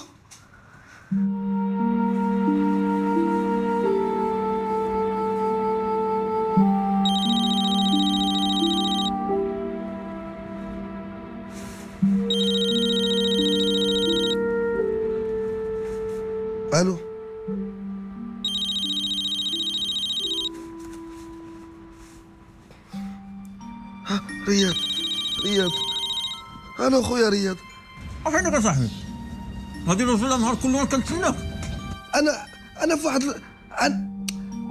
الو، ها رياض، رياض، الو خويا رياض. فينك يا صاحبي؟ غادي نوصل النهار كله كنتسناك. انا انا في واحد أنا...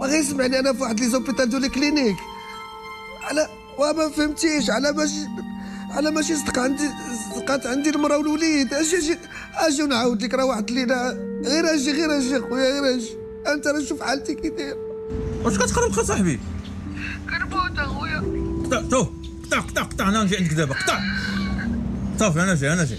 غير سمعني، انا في واحد les hôpitaux de les cliniques. انا وما فهمتيش على ماشي على ماشي صدق عندي، صدقات عندي المراة والوليد. اجي اجي اجي ونعاود لك، راه واحد الليلة غير اجي غير اجي خويا غير اجي. انت راه شوف حالتي كي داير. واش كتخرب صاحبي؟ كنموت اخويا. قطع تو قطع قطع قطع، انا نجي عندك دابا. قطع صافي، انا جاي انا جاي.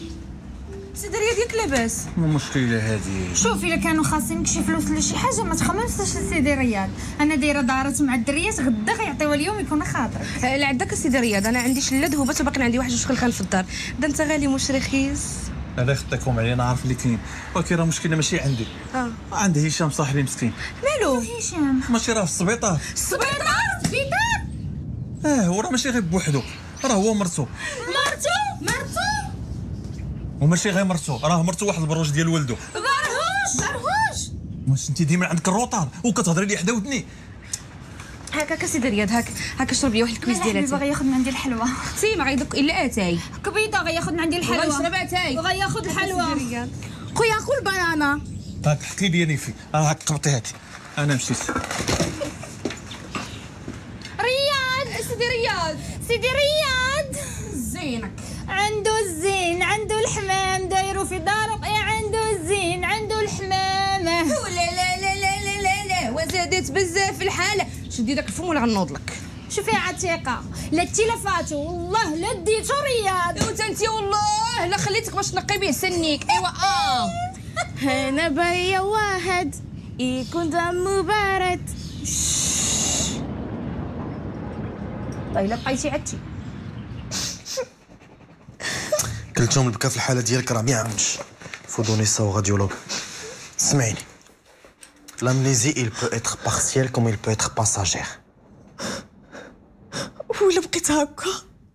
سيدي رياض ياك لاباس؟ المشكلة هذه شوف، الا كانوا خاصينك شي فلوس ولا شي حاجة ما تخممش سيدي رياض، انا دايرة دارت مع الدريات غدا غيعطيوها اليوم يكون خاطرك. لا عندك سيدي رياض، انا عندي شله ذهوبات وباقي عندي واحد جوج خلخال في الدار. دا انت غالي مش رخيص. الله يخطيكم عليا، انا عارف اللي كاين، ولكن راه المشكلة ماشي عندي. اه عند هشام صاحبي مسكين. مالو هشام؟ ماشي راه في السبيطار. السبيطار؟ السبيطار؟ اه هو راه ماشي غير بوحدو، راه هو مرتو. مرتو؟ مرتو؟ وماشي غير مرتو، راه مرتو واحد البروج ديال ولدو. برهوش برهوش. واش انت ديما عندك ال retard وكتهضري لي حدا ودني؟ هاك هاك سيدي رياض، هاك هاك شرب لي واحد الكويس ديال اتاي. باغي ياخذ من عندي الحلوة. اختي ما غيدوك الا اتاي. كبيده غياخذ من عندي الحلوة. يشرب اتاي وغياخذ الحلوة. خويا كل بنانه. هاك حكي لي نيفي، راه هاك قبطي هاتي. انا مشيت. رياض سيدي رياض، سيدي رياض زينك. عنده الزين، عنده الحمام، دايرو في دارو. يا عنده الزين، عنده الحمام. لا لا لا لا لا لا لا، وزادت بزاف الحالة. شدي داك الفم ولا غنوض لك. شوفي يا عتيقه، لا تلفاتو والله لا ديتو رياض. وانت انت والله لا خليتك باش تنقي به سنيك. ايوا اه انا بايا واحد يكون دمو بارد. طيب الا بقيتي عدتي كلثوم البكا في الحالة ديالك راه ما يعاونش. faut donner ça au radiologue. سمعيني، l'amnésie il peut être partielle comme il peut être passagère. ولا بقيت هكا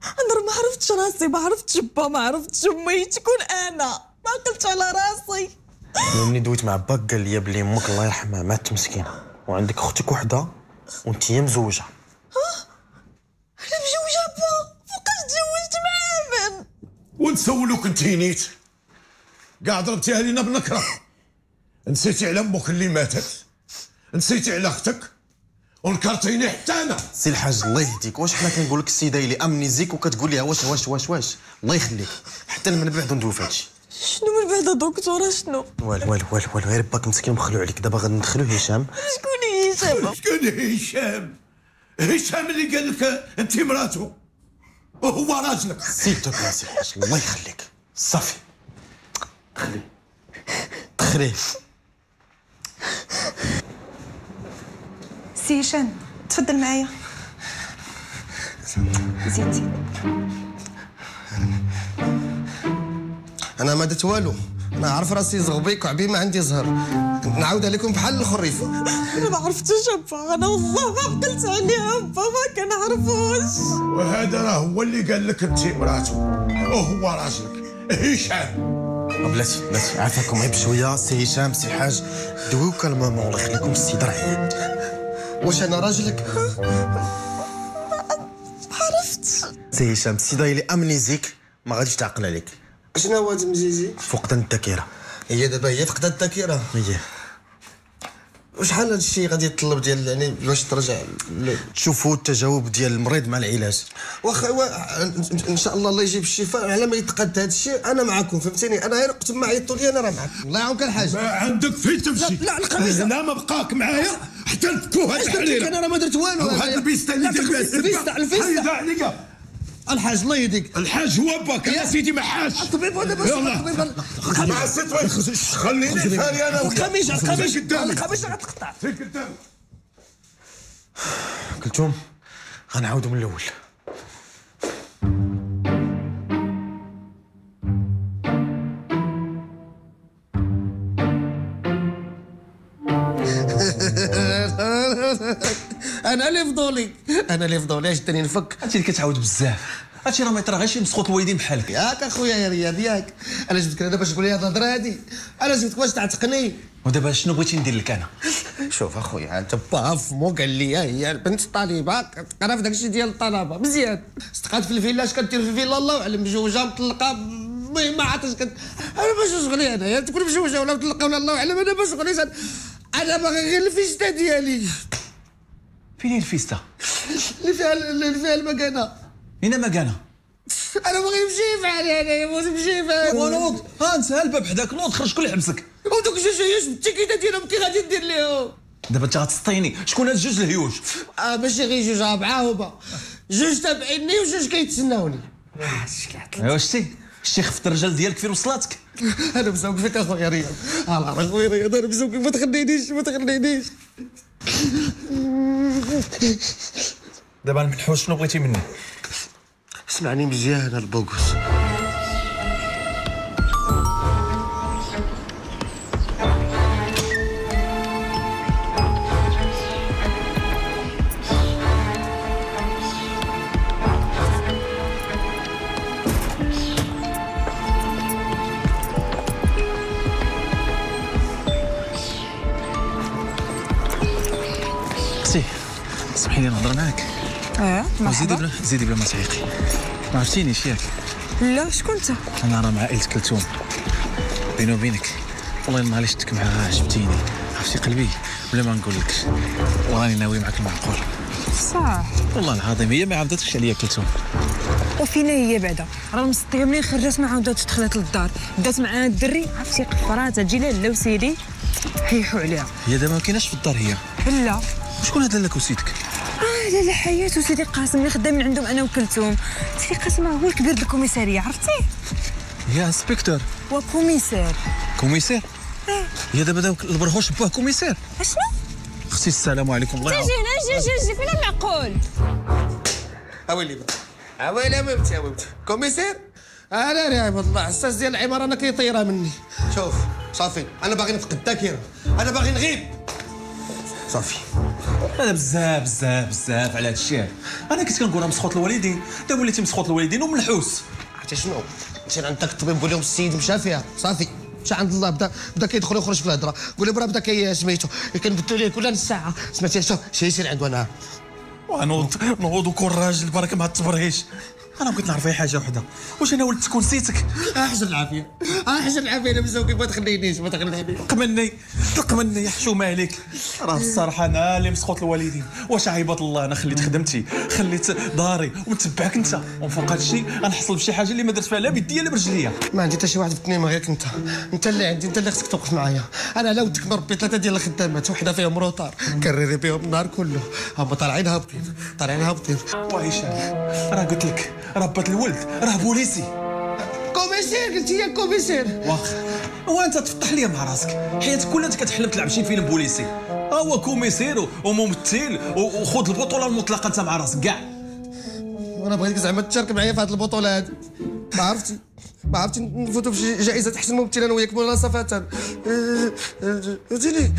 انا راه ما عرفتش راسي، ما عرفتش با، ما عرفتش امي تكون، انا ما عقلتش على راسي. ملي دويت مع باك قال لي بلي امك الله يرحمها ماتت مسكينه، وعندك اختك وحده وانت مزوجه. ها انا مزوجه با؟ فوقاش تزوجت مع من؟ ونسولوك انت نيت كاع ضربتيها لينا بنكره. نسيتي على امك اللي ماتت، نسيتي على اختك، ونكرتيني حتى انا. سي الحاج الله يهديك، واش حنا كنقول لك السيدة اللي amnésique وكتقول ليها واش واش واش واش؟ الله يخليك حتى من بعد ندوي في هادشي. شنو من بعد دكتورة؟ شنو؟ والو والو والو والو، غير باك مسكين مخلوع عليك. دابا غادي ندخلو هشام. شكون هشام؟ شكون هشام؟ هشام اللي قال لك انت مراتو وهو راجلك. s'il te plaît سي الحاج الله يخليك، صافي دخلي دخلي. سي هشام تفضل معايا. زيد زيد. انا ما درت والو، انا عارف راسي زغبي كعبي ما عندي زهر، نعاودها لكم بحال الخريفه. انا ما عرفتوش ابا، انا والله ما عقلت عليه ابا، ما كنعرفوش. وهذا راه هو اللي قال لك انت مراته وهو راجلك هشام. بلاتي بلاتي عافاكم غير بشوية. سي هشام سي الحاج دويو calmement الله يخليكم، السيد راه واش انا راجلك؟ ما عرفتش. سي هشام السيد اللي amnésique ما غاديش تعقل عليك. شنو هو هاد amnésie؟ فقدان الذاكرة. هي دابا هي فقدان الذاكرة. هي وشحال هاد الشيء غادي يتطلب ديال يعني باش ترجع ل... تشوفوا التجاوب ديال المريض مع العلاج. واخا ان شاء الله الله يجيب الشفاء على ما يتقاد هاد الشيء. انا معاكم فهمتيني، انا غير وقت ما عيطوا لي انا راه معاكم. الله يعاونك الحاج. ما عندك فين تمشي. لا القميص لا ما بقاك معايا حتى نفكوها الحريره. انا راه ما درت والو. وهاد البيستا اللي دير بها الفيستا الفيستا عليك الحاج الله يهديك. الحاج هو باك يا سيدي ما حاج. الطبيب هذا باش الطبيب مع الست خليني فاري انا. القميص القميص القميص غتقطع. فين قدامي كلثوم غنعاودو من الاول. انا اللي فضولي، انا اللي فضولي اش داني نفك. هادشي اللي كتعاود بزاف، هادشي راه ما يطرا غير شي مسخوط الوالدين بحالك. ياك اخويا يا رياض ياك، انا جبتك هنا باش تقول لي هاد الهضرة هادي، انا جبتك باش تعتقني. ودابا شنو بغيتي ندير لك انا؟ شوف اخويا انت با فمو قال لي هي البنت الطالبة كتقرا في داكشي ديال الطلبة مزيان، استقات في الفيلا اش كدير في الفيلا الله اعلم، مجوجه مطلقه المهم ما عرفتش كت... انا باش شغلي انايا تكون مجوجه ولا مطلقه ولا الله اعلم، انا باش شغلي انا باغي غير الفيستا ديالي. فين هي الفيستا؟ اللي فيها اللي فيها المكانة. هنا مكانه؟ انا باغي نمشي فحالي انايا، بغيت نمشي فحالي. ونوض ها انت الباب حداك، نوض خرج كل حبسك. ودوك جوج هيوش بالتيكيته ديالهم كي غادي ندير ليهم؟ دابا انت غتسطيني، شكون هاد جوج الهيوش؟ اه ماشي غير جوج، ربعه هما جوج تابعيني وجوج كيتسناوني. ايوا شتي شتي خفت الرجال ديالك فين وصلاتك؟ انا مسوق فيك اخويا رياض، الله اخويا رياض انا مسوق، ما تخلينيش ما تخلينيش. دابا المنحوس شنو بغيتي مني؟ اسمعني مزيان البوكوس. اختي سمحي لي نهضر معاك. اه مرحبا. زيدي بلا زيدي بلا ما تعيقي. ما عرفتينيش ياك؟ لا شكون انت؟ انا راه مع عائلة كلثوم. بيني وبينك والله النهار اللي شفتك معاها عجبتيني، عرفتي قلبي بلا ما نقول لك، وراني ناوي معاك المعقول. صح والله العظيم هي ما عاودتش عليا كلثوم. وفينا هي بعدا راه المسطيه ملي خرجت ما عاودتش دخلت للدار، بدات مع الدري عرفتي قفرات تجي لاله وسيدي حيحوا عليها. هي دابا ما كايناش في الدار هي؟ لا. شكون هاد لاله وسيدك؟ اه لاله حياة وسيدي قاسم اللي خدامين عندهم انا وكلثوم. سيدي قاسم هو الكبير ديال ال commissariat عرفتيه؟ هي inspecteur و commissaire. commissaire؟ اه هي دابا داك البرهوش باه commissaire. اشنو؟ اختي السلام عليكم الله يعاونك. تجي هنا جي جي جي فين المعقول؟ اويلي اويلي ميمتي اويلي commissaire؟ انا يا عباد الله عساس ديال العمارة انا كيطيرها مني. شوف صافي انا باغي نفقد الذاكرة، انا باغي نغيب صافي. هذا بزاف بزاف بزاف على هذا الشيء. انا كنت كنقول راه مسخوط الوالدين، دابا وليتي مسخوط الوالدين وملحوس. عرفتي شنو؟ مشينا عند داك الطبيب نقول لهم السيد مشى فيها صافي، مشى عند الله، بدا بدا كيدخل ويخرج في الهضرة، قول لهم راه بدا كي سميتو كنبدلوا ليه كل نص ساعة، سمعتي شوف شي يسير عنده انا. ونوض نوض وكون راجل بركة مع التبرهيش. انا بغيت نعرف غير حاجة وحده، واش انا ولد تكون سيتك؟ احجر العافية احجر العافية انا مزوقي، ما تخلينيش ما تخلينيش. طلق مني طلق مني حشومه عليك. راه الصراحة انا اللي مسخوط الوالدين. واش عيباد الله انا خليت خدمتي خليت داري ومتبعك انت، ومن فوق هذا الشيء غنحصل بشي حاجة اللي ما درت فيها لا بيديا لا برجليا. ما عندي حتى شي واحد في الدنيا من غيرك انت، انت اللي عندي، انت اللي خصك توقف معايا. انا على ودك مربي ثلاثة ديال الخدامات وحده فيهم retard كرري بهم النهار كله، هما طالعين هابطين طالعين هابطين. وهشام راه قلت لك ربة الولد راه بوليسي. commissaire قلت لي commissaire. واخا وانت تفطح لي مع راسك، حياتك كلها انت كتحلم تلعب شي فيلم بوليسي. ها هو commissaire وممثل وخذ البطولة المطلقة انت مع راسك كاع. وانا بغيتك زعما تشارك معايا في هذه البطولة هذه، ما عرفتي. ما عرفتي نفوتوا في جائزة احسن ممثل انا وياك مناصفه. فهمتيني؟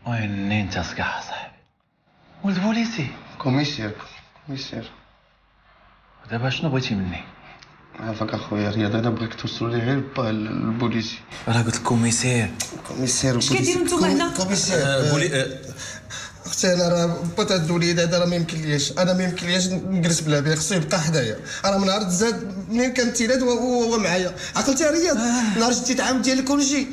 وين انت صقع صاحبي؟ ولد بوليسي commissaire commissaire. دابا شنو بغيتي مني؟ عافاك اخويا رياض، انا بغيك توصلوا لي غير با البوليسي. راه قلت لك commissaire. commissaire. اش كديروا نتوما هنا؟ commissaire بولي. اختي انا راه با تاع الوليد هذا راه ما يمكنليش، انا ما يمكنليش نجلس بلا بيه، خصو يبقى حدايا. راه من نهار تزاد منين كان تيلاد وهو معايا. عقلتي يا رياض؟ نهار جديت عام ديال ال congé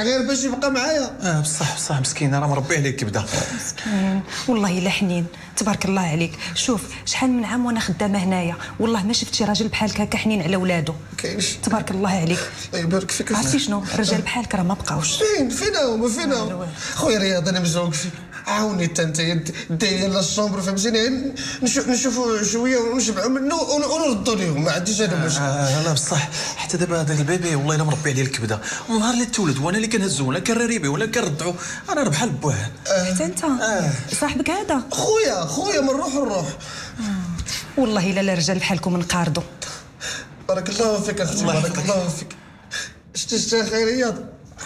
غير باش يبقى معايا. اه بصح بصح مسكين، راه مربي عليك كبده. مسكين والله الا حنين، تبارك الله عليك. شوف شحال من عام وانا خدامه هنايا، والله ما شفت شي راجل بحالك هكا حنين على ولادو. كاينش. تبارك الله عليك. الله يبارك فيك. عرفتي شنو؟ الرجال بحالك راه ما بقاوش. فين فين هما فين هما؟ خويا رياض انا مزوق فيك، عاوني حتى انت دير la chambre فهمتيني، نشوفوا شوية ونشبعوا منه ونردوا لهم، ما عنديش انا مشكل. آه لا بصح حتى دابا هذاك ال bébé والله الا مربي عليه الكبده، من نهار اللي تولد وانا اللي كنهزو ولا كنريبي بيه ولا كنردعو، انا راه بحال بوه. حتى انت آه. صاحبك هذا؟ خويا خويا من روح الروح. آه. والله الا الرجال بحالكم نقارضوا. بارك الله فيك اختي، بارك الله فيك. شتي شتي اخي رياض،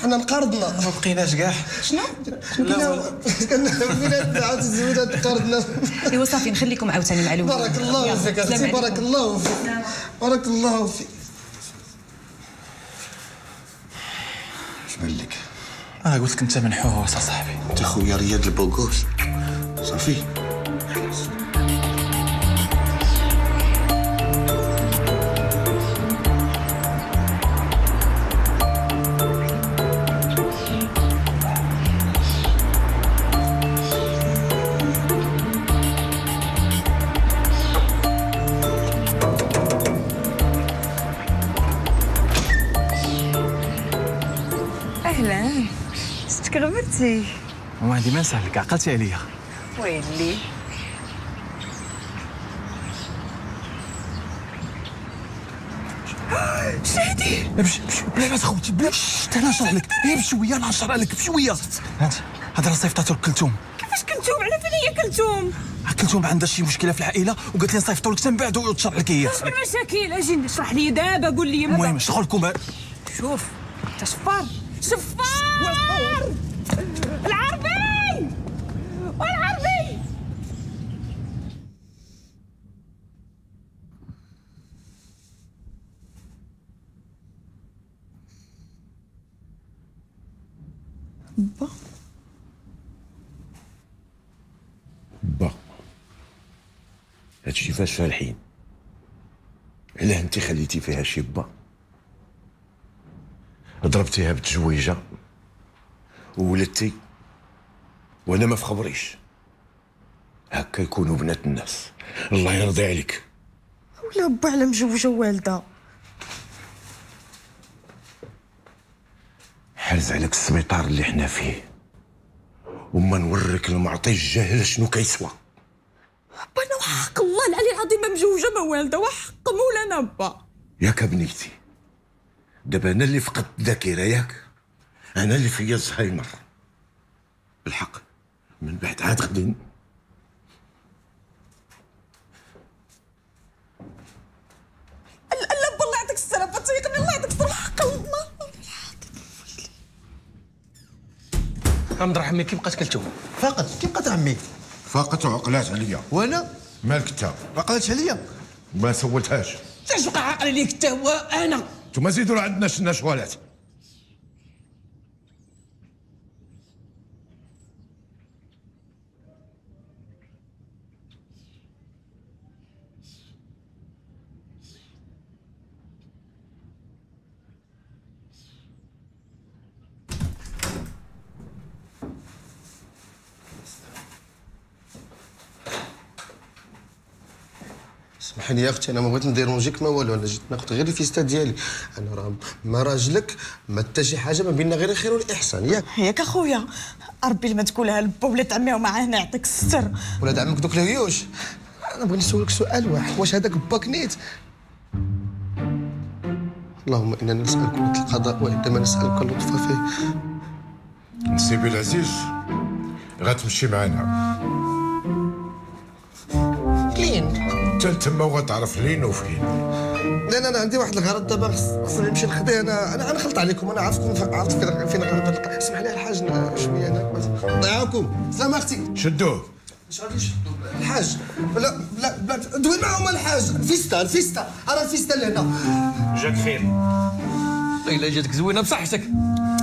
حنا نقارضنا ما بقيناش كاع. شنو؟ لا كنا عاود الزوينة تقارضنا. ايوا صافي نخليكم عاوتاني مع الولاد. بارك الله فيك اختي، بارك الله فيك، بارك الله فيك. اش بان لك؟ انا قلت لك انت منحوس اصاحبي. انت خويا رياض البوغوس صافي. غبرتي؟ ما عندي ما نسالك، عقلتي عليا. ويلي شهدي. بش بش بلا ما تخوتي، بلا شت انا نشرح لك غير بشوية، انا نشرح لك بشوية. هانت هذا راه صيفطاتو لكلثوم. كيفاش كلثوم؟ على فين هي كلثوم؟ كلثوم عندها شي مشكلة في العائلة وقالت لي نصيفطو لك حتى من بعد وتشرح لك هي. اش المشاكل؟ اجي اشرح لي دابا، قول لي. المهم شغلكم. شوف انت شفار شفار العربي والعربي. با با هادشي فاش فالحين؟ علاه انت خليتي فيها شي با؟ ضربتيها بتزويجه وولدتي وانا ما فخبريش. هكا يكونوا بنات الناس. الله يرضي عليك. ولا با على مجوجه والده. حرز عليك السبيطار اللي حنا فيه، وما نوريك المعطي الجاهل شنو كيسوى. با انا وحق الله العلي العظيم ما مجوجه ما والده، وحق مولانا با. ياك بنيتي، دابا انا اللي فقدت الذاكرة، ياك انا اللي فيا الزهايمر. بالحق من بعد عاد غادي لا لا بالله يعطيك السلامة، تيقني الله يعطيك السلامة، حق الله. عبد الرحمن كي بقات كلثوم؟ فاقت. كي بقات عمي؟ فاقت وعقلات عليا. وانا؟ مالك انت؟ ما عقلتش عليا؟ ما سولتهاش. علاش بقى عاقل عليك انت؟ هو انا انتوما زيدوا راه عندنا شنا شغالات. سمحي لي يا اختي، انا ما بغيت نديرونجيك ما والو، انا جيت ناخذ غير الفيستا ديالي. انا راه ما راجلك ما حتى شي حاجة، ما بيننا غير الخير والاحسان. ياك ياك اخويا، ربي لما تقولها لبا ولاد عمي ومعاه هنا يعطيك الستر. ولاد عمك دوك الهيوش. انا بغيت نسولك سؤال واحد، واش هذاك باك نيت؟ اللهم انا نسالك مثل القضاء وعندما نسالك اللطف فيه. نسيبي العزيز غتمشي معنا لين حتى تما وغتعرف لين وفين. لا لا انا عندي واحد الغرض دابا، خصني نمشي نخديه. انا انا غنخلط عليكم، انا عرفتكم، عرفت فين فين غنلقى. اسمح لي الحاج شوية هناك، نعاونكم. سلام اختي. شدوه. اش غادي نشدو الحاج؟ لا لا لا دوي معاهم الحاج. الفيستا الفيستا، راه الفيستا لهنا. جاك خير. الا جاتك زوينة بصحتك.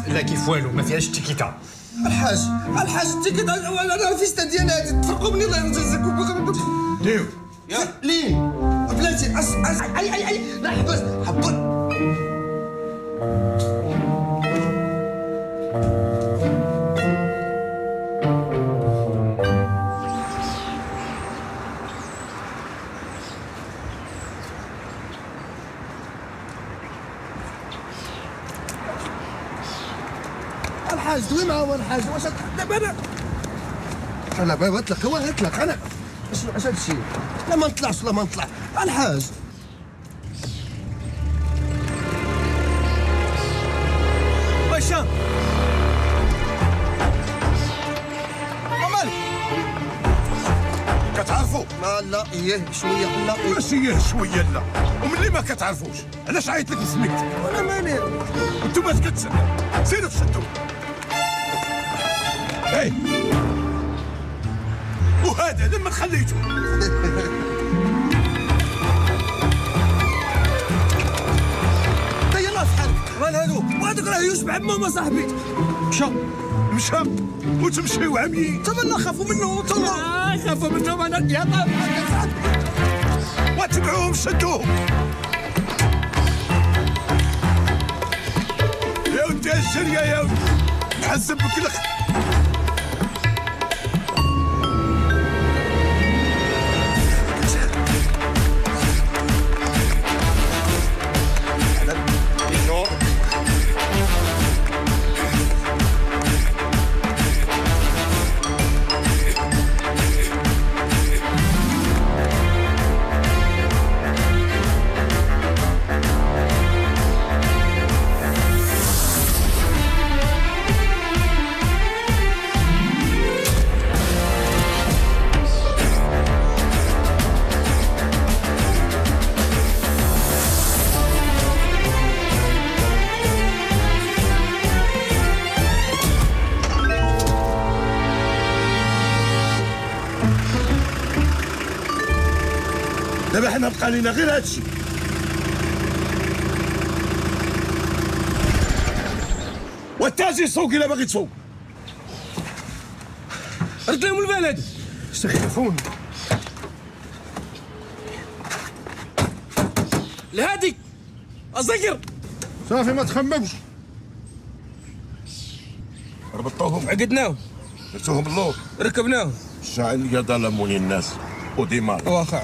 لا كيف والو، ما فيهاش التيكيتا. الحاج الحاج التيكيتا، انا الفيستا ديالي هادي تفرقوا مني الله يجازيكم. ديو يا لين بلاتي أس أس اي اي اي لا حبس حبط. الحاج دوي معاهم الحاج، واش دابا انا لا بابا اطلق، هو اطلق. انا اش اش هادشي؟ لا ما نطلعش، لا ما نطلع الحاج. هشام مالك كتعرفوا؟ لا لا ايه شوية، لا ماشي ايه شوية، لا. وملي ما كتعرفوش علاش عيط لك بسميتك؟ وانا مالي؟ انتوما اش كتسناو؟ سيروا تشدوا. اي وهذا لما خليته. يلا في حالك. مال هادو؟ وهذوك راه يوسف عمهم صاحبي. مشى مشى وتمشيو عمي. تما خافوا منه، تما خافوا منهم. انا يلا وتبعوهم شدوهم. يا ودي الجريه يا ودي، نحسب بك الخ. دابا حنا بقى لينا غير هادشي. والتاجي سوق الا باغي تسوق. رد لهم البلد. استخفون الهادي الذكر. صافي ما تخممش. ربطوهم، عقدناهم، درتوهم اللور، ركبناهم. شعل يا ظلموني الناس وديمار. واخا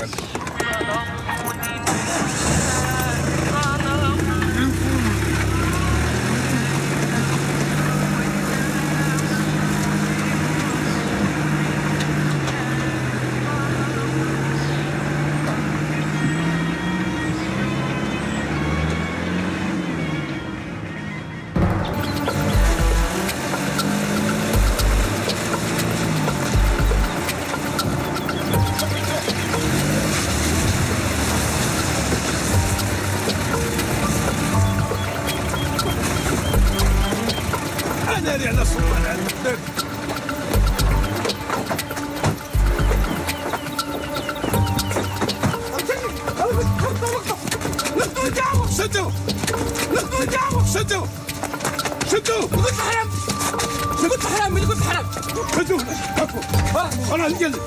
انا نجلس.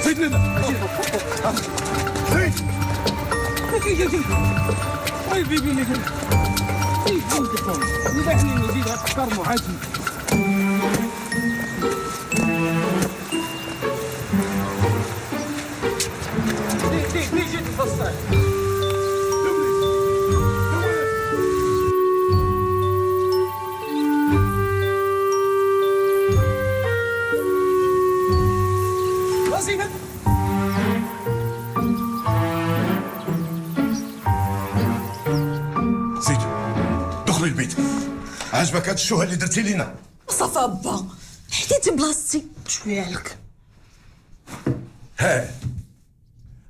زيد لنا زيد. طيب بيبي لي زيد تكرموا عادي. دي دي جيت تفصل. زيد دخلي البيت. عجبك هاد الشوهه اللي درتي لينا؟ صافا با حيدتي بلاصتي شوية عليك. ها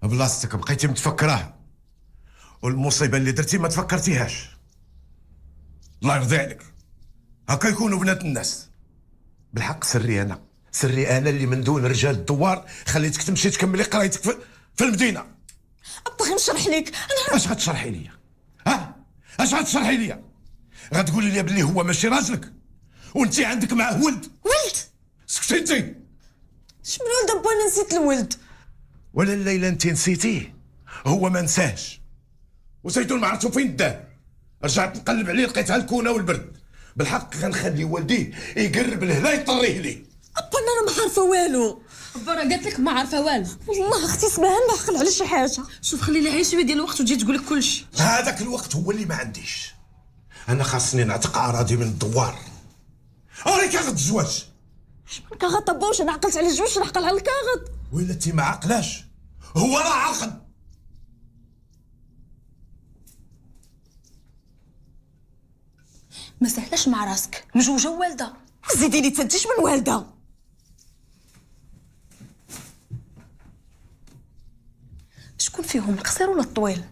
بلاصتك بقيتي متفكراها، والمصيبة اللي درتي ما تفكرتيهاش. الله يرضي عليك، هكا يكونوا بنات الناس. بالحق سري انا، سري انا اللي من دون رجال الدوار خليتك تمشي تكملي قرايتك في, في المدينة. ابا غنشرح لك انا. اش غتشرحي ليا؟ ها؟ اش غتشرحي ليا؟ غتقولي لي باللي هو ماشي راجلك وانت عندك معاه ولد. ولد؟ سكتي انت. شمن ولد ابا؟ انا نسيت الولد. ولا الليلة انت نسيتيه، هو ما نساهش. وزيدون ما عرفتو فين داه. رجعت نقلب عليه لقيتها الكونه والبرد. بالحق غنخلي والديه يقرب لهنا يطريه ليه. ابا انا ما عارفه والو. ابا راه قالت لك ما عارفه والو. والله اختي سمعها ما عقل على شي حاجة. شوف خلي لها شوية ديال الوقت وتجي تقول لك كلشي. هذاك الوقت هو اللي ما عنديش. انا خاصني نعتق اراضي من الدوار. اوري كاغط الزواج. كاغط ابا؟ واش انا عقلت على الزواج نعقل على الكاغط؟ ولا انت ما عقلاش، هو راه عاقل. ما سهلاش مع راسك، مجوجه ووالده. زيديني تنتيش من والده. شكون فيهم القصير ولا الطويل؟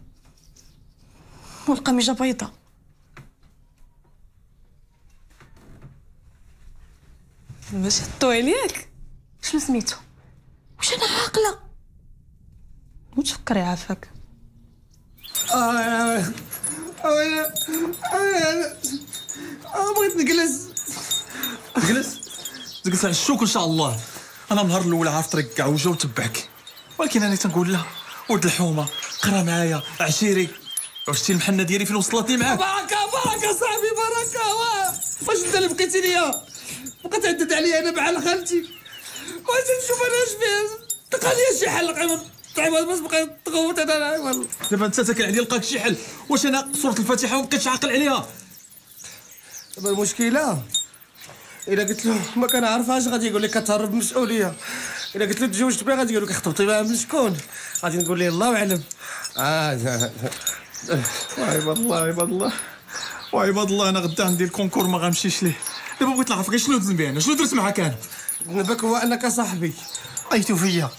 والقميجه بيضاء. ماشي الطويل ياك؟ شنو سميتو؟ واش انا عاقلة؟ وتفكري عافاك. آه آه آه بغيت نجلس. تجلس؟ تجلس على الشوك ان شاء الله. انا من النهار الاول عارف طريق كاع وجا وتبعك، ولكن انا تنقول لا ولد الحومه قرا معايا عشيري. شتي المحنة ديالي فين وصلتني معاك؟ بركة بركة صاحبي بركة. واش انت اللي بقيتي ليا؟ بقيت تعدد عليا انا بحال خالتي. واش نشوف انا اش فيها؟ تلقى لي شي حل قيمة باش بقيت تغوت انا. والله دابا انت تاكل عليا لقاك شي حل. واش انا سورة الفاتحة وما بقيتش عاقل عليها؟ دابا المشكلة الا قلت له ما كنعرفهاش غادي يقول لك كتهرب من المسؤولية. الا قلت له تزوجت بها غادي يقول لك خطبتي بها من شكون؟ غادي نقول ليه الله اعلم. اه وعباد الله عباد الله وعباد الله، انا غدا عندي ال concours ما غنمشيش ليه. دابا بغيت نعرف غير شنو ذنبي انا، شنو درت معاك انا؟ ذنبك هو انك صاحبي. بقيتو فيا.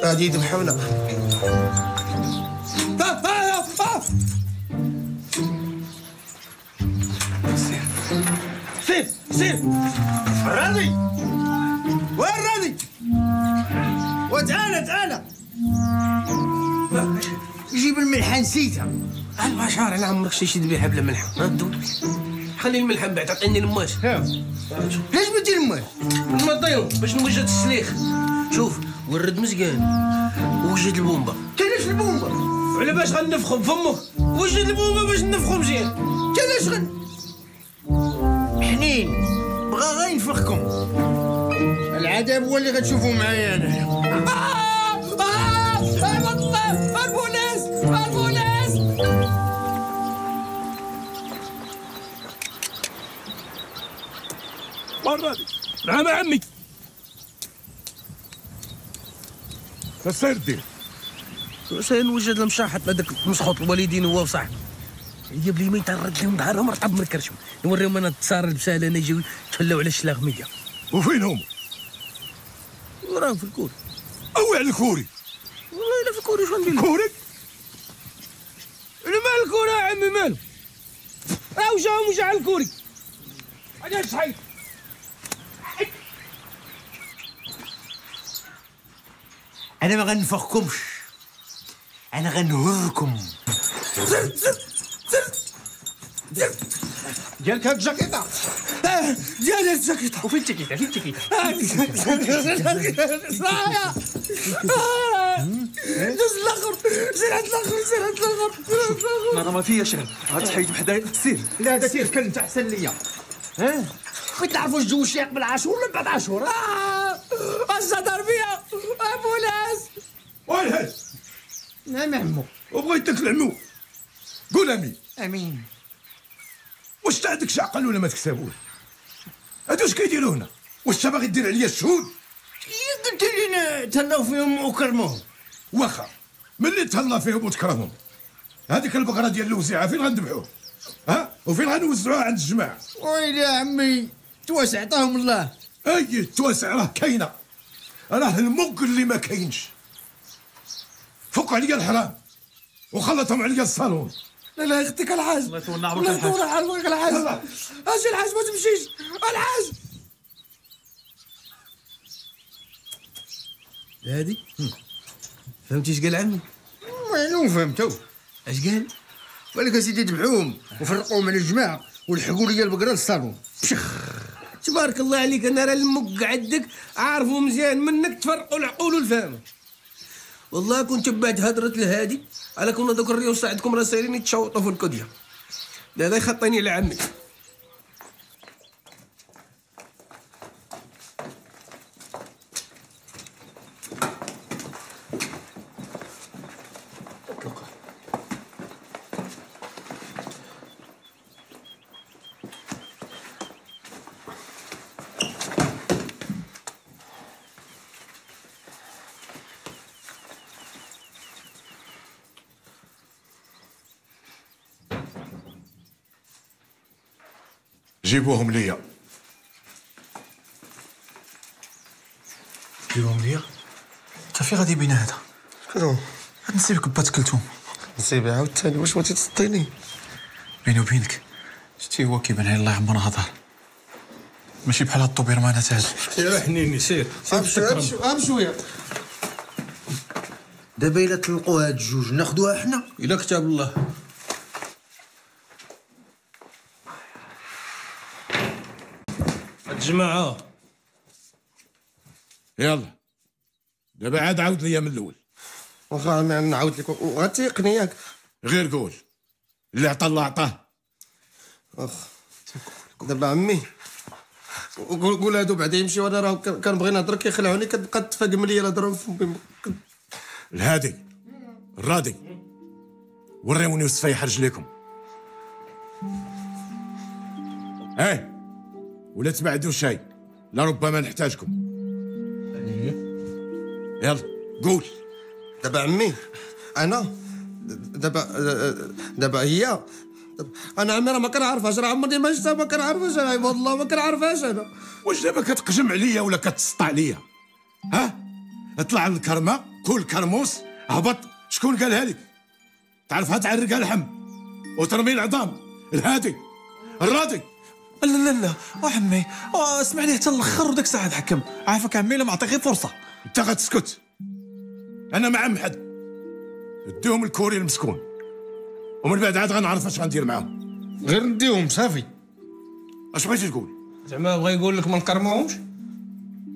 غادي يذبحونا. سير سير سير. الراضي وين الراضي؟ وتعالى تعالى جيب الملحة نسيتها. البشر على عمرك شي شي ذبيحة بلا ملحة. خلي الملحة من بعد عطيني الماس. علاش بدي الماس؟ نمضيهم باش نوجد السليخ. شوف ورد مزيان وجد البومبا. كايناش البومبا؟ على باش غنفخو بفمك؟ وجد البومبا باش نفخو مزيان. كايناش غن حنين بغا غير ينفخكم. العذاب هو اللي غتشوفوا معايا انا. آه آه الله البوليس البوليس. والراضي. نعم عمي. سير دير سير نوجد المشاحط هذاك مسخوط الوالدين هو وصاحبي. هي بلي ترد لهم ظهرهم رطب من كرشهم. نوريهم انا التصار البساله انا يجيو يتفلاو على الشلاغميه. وفين هما؟ راهم في الكور. اوي على الكوري. والله الا في الكوري شنو ندير؟ كوري؟ مال الكوري يا عمي مالو؟ راه وجاهم وجا على الكوري. علاش حيد؟ انا ما غنفخكمش، انا غنهركم. زر زر زر زر ديالك هاد الجاكيطه؟ اه ديالي هاد الجاكيطه. وفين التيكيتا؟ فين التيكيتا؟ دوز الاخر، سير عند الاخر، سير عند الاخر، سير عند الاخر. انا ما فيا شغل، غتحيد بحدايا سير. لا هذا سير كلمت احسن ليا. ها بغيت نعرف واش تزوج شي قبل عاشور ولا بعد عاشور. اش هضر بيا ابو لاس؟ وين نعم عمو. وبغيتك العمو، قول امين. امين. واش انت عندك شي عقل ولا ما تكسبوش؟ هادو اش كيديروا هنا؟ واش انت باغي دير عليا الشهود؟ قلت لينا تهلاو فيهم وكرموهم. واخا ملي تهلا فيهم وتكرمهم، هذيك البقرة ديال الوزيعه فين غنذبحوه؟ ها؟ وفين غنوزعوها عند الجماعة؟ ويلي يا عمي تواسع عطاهم الله. اي تواسع راه كاينه، راه المك اللي ما كاينش. فوق عليا الحرام وخلطهم عليا الصالون. لا لا يخطيك الحاج، الله يطول عمرك الله يطول عمرك الحاج. اجي الحاج ما تمشيش الحاج. هادي فهمتي اش قال عمي؟ معلوم فهمتو. اش قال؟ قال لك اسيدي ذبحوهم وفرقوهم على الجماعة ولحقوا لي البقرة للصالون. بشخ تبارك الله عليك، انا راه المك عندك عارفو مزيان، منك تفرقوا العقول والفهم. والله كنت بعد هضره الهادي على كون دوك الريوس عندكم راه سايرين يتشوطوا في الكديه. لا لا يخطيني على عمي. جيبوهم ليا. جيبوهم ليا؟ انت فين غادي بينا هذا؟ شكون؟ هاد نسيبك بات كلثوم. نسيبي عاوتاني؟ واش بغيتي تسطيني؟ بيني وبينك شتي هو كيبان عليه الله يعمرها دار، ماشي بحال هاد الطوبيرمانات هادو. سير حنيني سير سير بشوية. دابا الا طلقوا هاد الجوج ناخذوها حنا الا كتاب الله. الجماعة يلا دابا عاد عاود ليا من الأول. واخا عمي نعاود لك وغتيقني ياك؟ غير قول اللي عطا الله عطاه. واخا دابا عمي قول قول هادو بعدا يمشيو، انا راه كنبغي نهضر كيخلعوني، كتبقى تفاقم ليا الهضرة في فمي. الهادي الراضي وريوني وصفيح رجليكم. ايه ولا تبعدوا شيء لربما نحتاجكم. يلا قول. دابا عمي انا دابا دابا هي انا عمي راه ما كنعرفهاش، راه عمرني ما شفتها، ما كنعرفهاش انا والله ما كنعرفهاش انا. واش دابا كتقجم عليا ولا كتسطع عليا؟ ها؟ اطلع للكرمه كل كرموس هبط، شكون قالها لك؟ تعرفها تعرقها اللحم وترمي العظام. الهادي الراضي. لا لا لا وعمي اسمع لي حتى الاخر وداك الساعة نحكم. عافاك عمي لا معطي غير فرصة. انت غتسكت، انا مع عم حد. اديهم الكوري المسكون ومن بعد عاد غنعرف اش غندير معاهم. غير نديهم صافي. اش بغيتي تقول؟ زعما بغا يقول لك ما نكرموهمش؟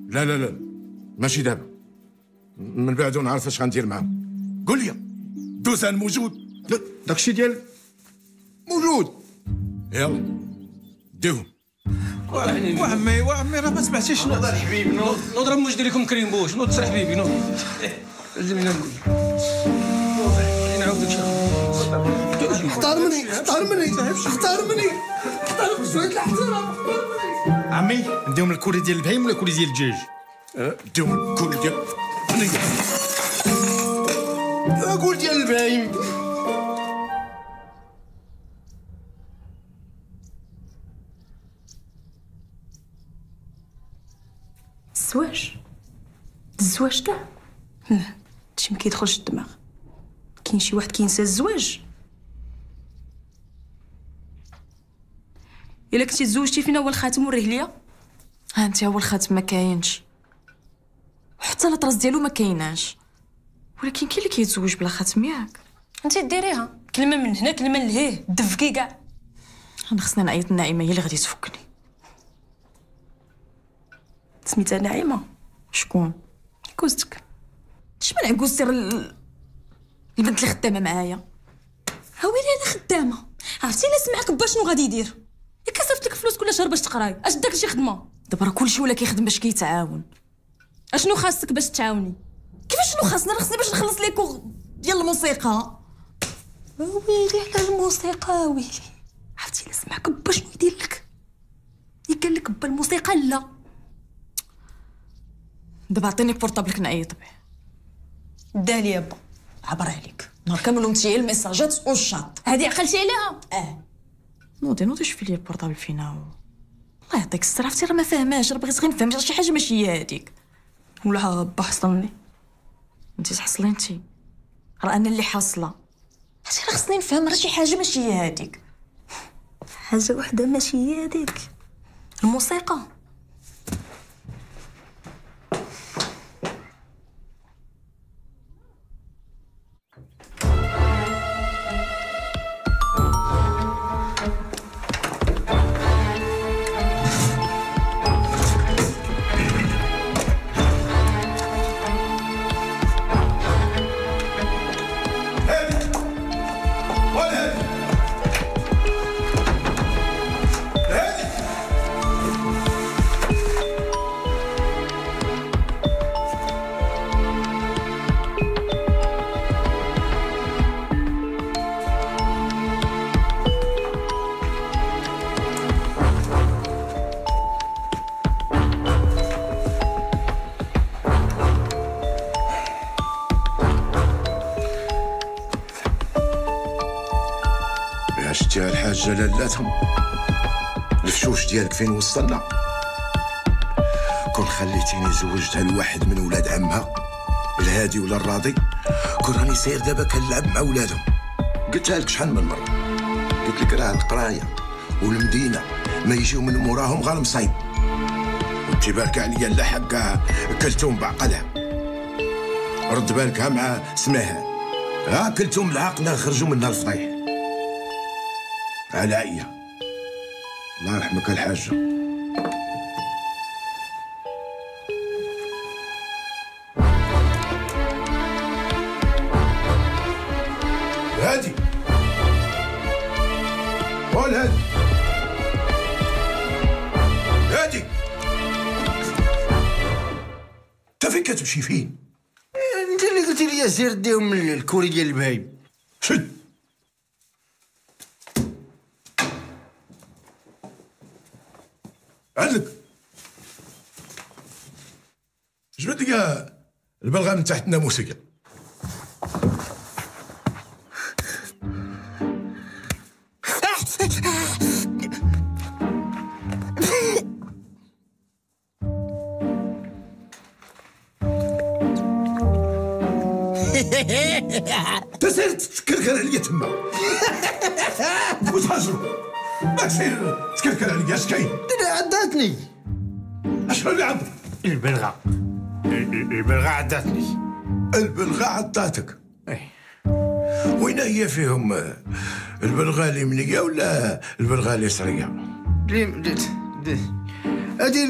لا لا لا ماشي دابا، من بعد نعرف اش غندير معاهم. قول لي دوزان موجود؟ داكشي ديال موجود. يلا ديهم. وعمي وعمي راه ما سمعتيش شنو. نوض الحبيب نوض نوض، راه موجد لكم كريمبوش. نوض سير حبيبي نوض. لازم نقول نعاود لك شي. احترمني احترمني احترمني احترم شوية الاحترام. عمي نديهم الكوري ديال البهيم ولا الكوري ديال الدجاج؟ نديهم الكوري ديال قول ديال البهيم. الزواج الزواج كاع لا هادشي ما كيدخلش الدماغ. كاين شي واحد كينسى الزواج؟ الا كنتي تزوجتي فينا هو الخاتم وريه ليا. ها انت هو الخاتم ما كاينش، وحتى la trace ديالو ما كايناش. ولكن كاين اللي كيتزوج بلا خاتم ياك؟ انت ديريها كلمة من هنا كلمة لهيه دفكي كاع. انا خصني نعيط لنعيمه، هي اللي غادي تفكني. سميتها نعيمه؟ شكون؟ عكوزتك. شمن عكوزتي؟ راه البنت اللي خدامه معايا. ها ويلي انا خدامه. عرفتي الا سمعك با شنو غادي يدير؟ ياك صيفط لك فلوس كل شهر باش تقراي، اش داك شي خدمة؟ دابا راه كلشي ولا كيخدم باش كيتعاون. اشنو خاصك باش تعاوني؟ كيفاش شنو خاصنا؟ راه خصني باش نخلص les cours ديال الموسيقى. ويلي على الموسيقى، ويلي. عرفتي الا سمعك با شنو يدير لك؟ ياك قال لك با الموسيقى لا. دابا عطيني portable ك نعيط به. دالي با عبر عليك نهار كامل وانت الميساجات والشاط. هادي عقلتي عليها؟ اه نوضي نوضي شوفي لي ال portable فينا و... الله يعطيك الصحة. عرفتي راه ما فاهماش، راه بغيت غير نفهم شي حاجة ماشي هي هذيك. ولا با حصلني. انت تحصلي انت، راه انا اللي حاصله. عرفتي راه خصني نفهم، راه شي حاجة ماشي هي هذيك. حاجة وحده ماشي هي هذيك، الموسيقى. شتيها الحاجة لالاتهم الفشوش ديالك فين وصلنا؟ كون خليتيني زوجتها لواحد من ولاد عمها الهادي ولا الراضي كون راني ساير دابا كنلعب مع ولادهم. قلتها لك شحال من مرة، قلت لك راه القراية والمدينة ما يجيو من موراهم غير مصايب. وانت بارك عليا لا حقها كلتهم بعقلها. رد بالك ها مع سماها، ها كلتهم العقل خرجوا منها الفضيح. عليا الله يرحمك الحاجة. هادي قول هادي هادي انت فين كتمشي فين؟ انت اللي قلتي لي سير ديهم الكوري ديال البهايم. شد عندك جبد لك البلغه من تحت الناموسيه. انت سير تكركر عليا تما وتهاجروا. ما سير تكركر عليا، اش كاين؟ عضاتني. اش اللي عضك؟ البلغه البلغه عضاتني. البلغه عضاتك؟ ايه. وين هي فيهم البلغه اليمنية ولا البلغه اليسريه؟ هذه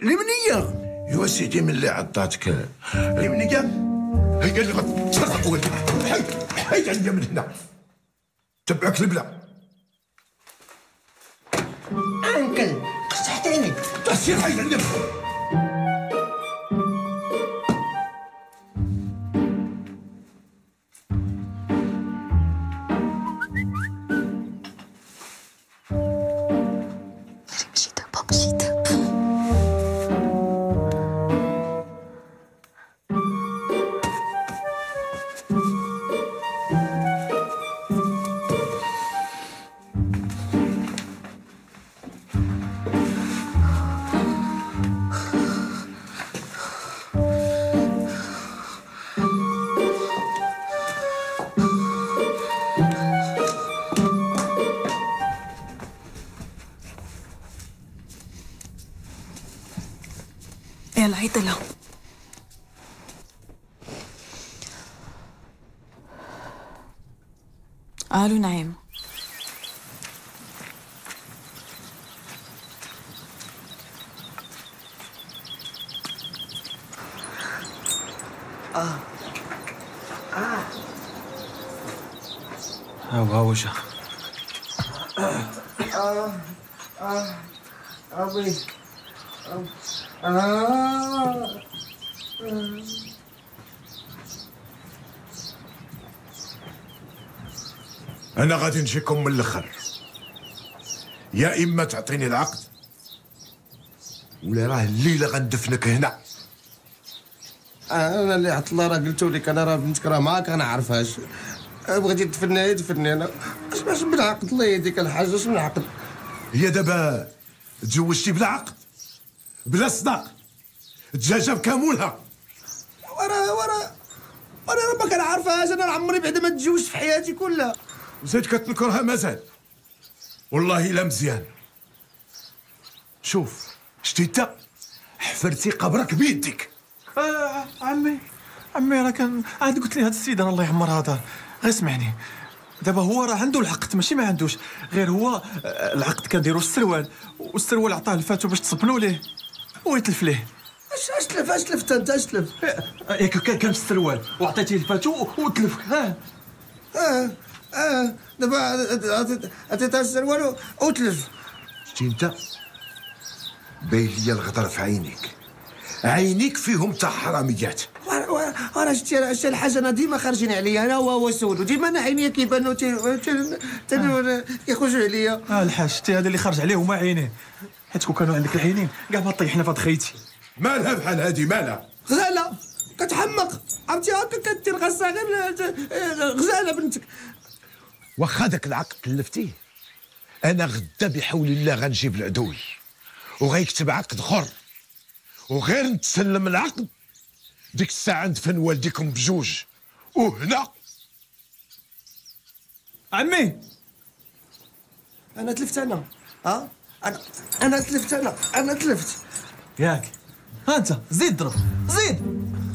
اليمنية. ايوا سيدي من اللي عضاتك اليمنية هي اللي غتسرق ولدك. حيد حيد عليا من هنا، تبعك البلا. انكل قصحتيني. تسير حيد عليا. ماشي دابا ماشي دابا. عيطي لها. الو نعيم. اه اه ها هو جا. اه اه ابي اه انا غادي نجيكم من الاخر، يا اما تعطيني العقد ولا راه الليلة غندفنك هنا. انا اللي عط الله راه قلتو لك، انا راه بنتك راه ما كنعرفهاش، بغيتي تدفني دفني انا. اش باش بالعقد؟ الله يهديك الحاج، اش من عقد؟ هي دابا تزوجتي بلا عقد بلا صداق، دجاجه بكامولها. ورا ورا وانا راه ما كنعرفهاش، انا عمري بعدا ما تزوجت في حياتي كلها. وزيد كتنكرها مازال؟ والله الا مزيان. شوف شتي انت حفرتي قبرك بيدك. آه عمي عمي راه كان عاد قلت لي هاد السيد راه الله يعمرها دار، غير اسمعني دابا هو راه عنده العقد ماشي ما عندوش، غير هو العقد كنديرو السروال، والسروال عطاه الفاتو باش تصبنوا ليه ويتلف ليه. اش اش تلف اش تلفت انت؟ اش تلف؟ ياك كان في السروال وعطيتيه الفاتو وتلف. اه اه اه دابا عطيتها السروال وتلف. شتي انت باين ليا الغدر في عينيك، عينيك فيهم تاع حراميات. وراه شتي شتي الحاجة، انا ديما خارجين عليا انا وهو سولو، ديما انا عينيا كيبانو كيخرجوا عليا. اه الحاج شتي هذا اللي خرج عليه هما عينيه، حيت كون كانوا عندك العينين كاع ما طيحنا في هاد خيتي. مالها بحال هادي؟ مالها غزاله كتحمق، عرفتي هكا كدير غزة غير غزاله بنتك. واخا داك العقد تلفتيه، انا غدا بحول الله غنجيب العدول وغيكتب عقد اخر، وغير نتسلم العقد ديك الساعة ندفن والديكم بجوج. وهنا عمي انا تلفت، انا ها انا انا تلفت، انا انا تلفت ياك. ها انت زيد ضرب زيد،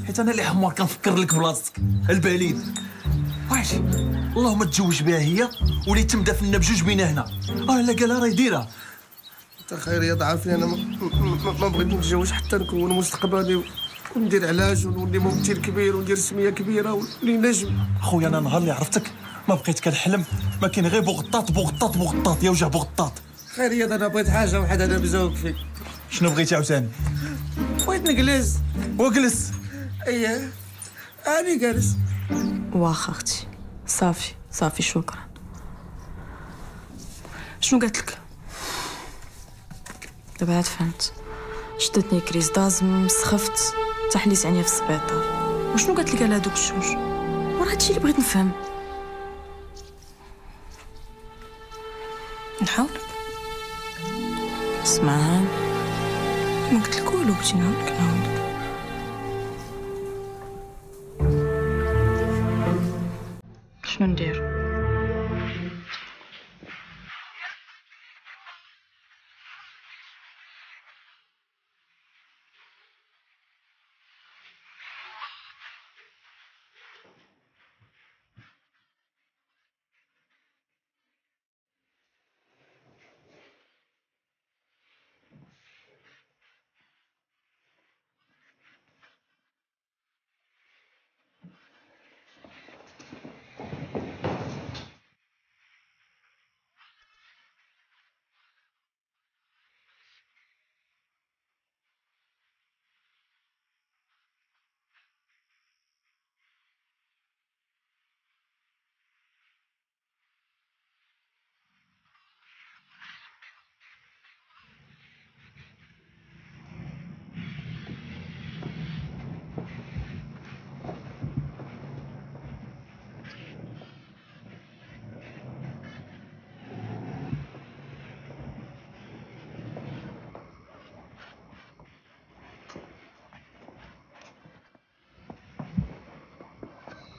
حيت انا اللي حمار كنفكر لك بلاصتك البليد. واش اللهم تزوج بها هي ولا يتم دفننا بجوج بينا هنا. اه لا قالها راه يديرها. انت خير يا عارفني انا ما بغيت نتزوج حتى نكون مستقبلي وندير علاج ونولي ممثل كبير وندير سميه كبيرة ونولي نجم. خويا انا نهار اللي عرفتك ما بقيت كنحلم، ما كاين غير بوغطاط بوغطاط بوغطاط يا وجه بوغطاط. خير يا انا بغيت حاجة وحده انا بزوج فيك. شنو بغيتي عاوتاني؟ بغيت نجلس. وجلس. اييه انا جالس. واخا اختي صافي صافي شكرا. شنو قالت لك؟ دابا عاد فهمت، شدتني crise d'asthme، سخفت تحليت عينيا في السبيطار. وشنو قالت لك على هادوك الجوج؟ وراه هادشي اللي بغيت نفهم. نحاولك. اسمع ما قلت لك والو، بغيتي نعاونك نعاونك. شنو ندير؟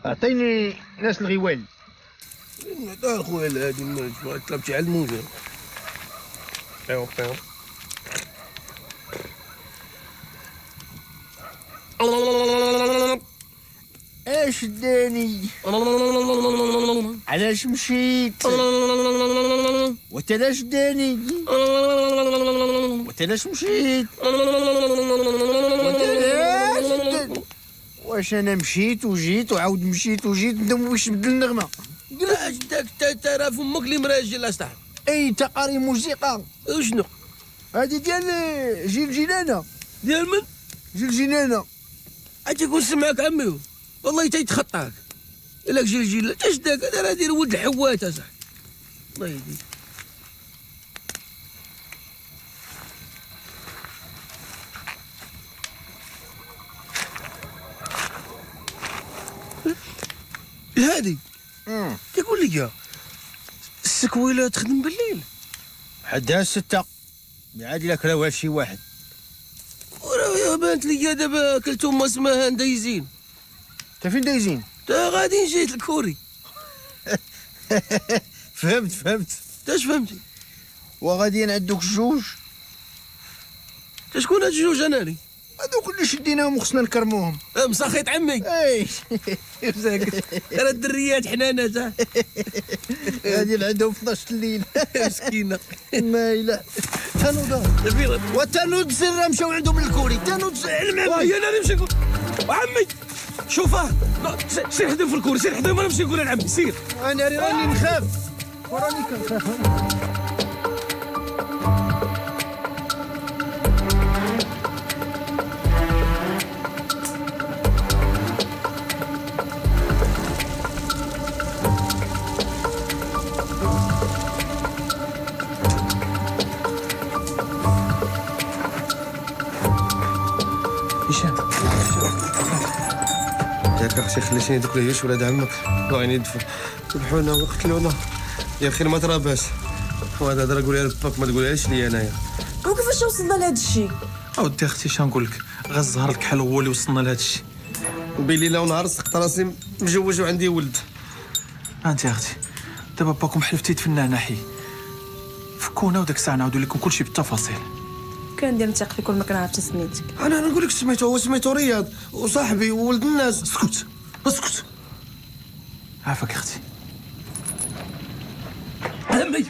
اعطيني ناس الغوال. عطاه خويا الهادي طلبتي على الموجه. بيو بيو. اش داني؟ علاش مشيت؟ وتلاش داني؟ وتلاش مشيت؟ وتلاش داني؟ واش انا مشيت وجيت وعاود مشيت وجيت باش نبدل النغمة؟ اش داك ترى فمك اللي مراجل اصاحبي. اي تقاري موسيقى. وشنو؟ هذه ديال جيل جيلانه. ديال من؟ جيل جيلانه. عاد يكون سمعك عمي والله تيتخطاك. لك جيل جيل اش داك؟ هذا راه ديال ولد الحوات اصاحبي. الله يهديك. الهادي تيقول لي السكويله تخدم بالليل حدها ستة عاد الا كراوها شي واحد. وراه بانت لي دابا كلتهم اسمها دايزين. انت فين دايزين؟ تا غادي جيت الكوري. فهمت فهمت. تا اش فهمتي؟ وغاديين عند دوك الجوج. تا شكون هاد الجوج انا لي؟ هذوك اللي شديناهم وخصنا نكرموهم. مساخيط عمي. اي راه الدريات حنانات. هادي اللي عندهم اثناش الليل. مسكينه. ما الا تنوض وتنوض سر مشاو عندهم الكوري. تنوض علم عمي. وهي انا نمشي نقول عمي شوفه سير حدهم في الكوري، سير حدهم انا نمشي نقول لعمي سير. انا راني نخاف وراني كنخاف. ياك اختي خليتيني دوك العيوش ولاد عمك باغيين يدفوا ذبحونا وقتلونا. يا اخي ما تراباش وهذا هضره قوليها لباك ما تقولهاش ليا انايا. وكيفاش وصلنا لهذا الشيء؟ اودي اختي شنو نقول لك، غير الزهر الكحل هو اللي وصلنا لهذا الشيء. بليله ونهار سقط راسي مجوج وعندي ولد. انت يا اختي دابا باكم حلفتي تفنى حي فكونا وداك الساعة نعاودوا لكم كلشي بالتفاصيل. كندير نثق فيك ولا ما كنعرفش سميتك؟ انا نقول لك سميتو، هو سميتو رياض وصاحبي وولد الناس. اسكت اسكت عافاك اختي. عمي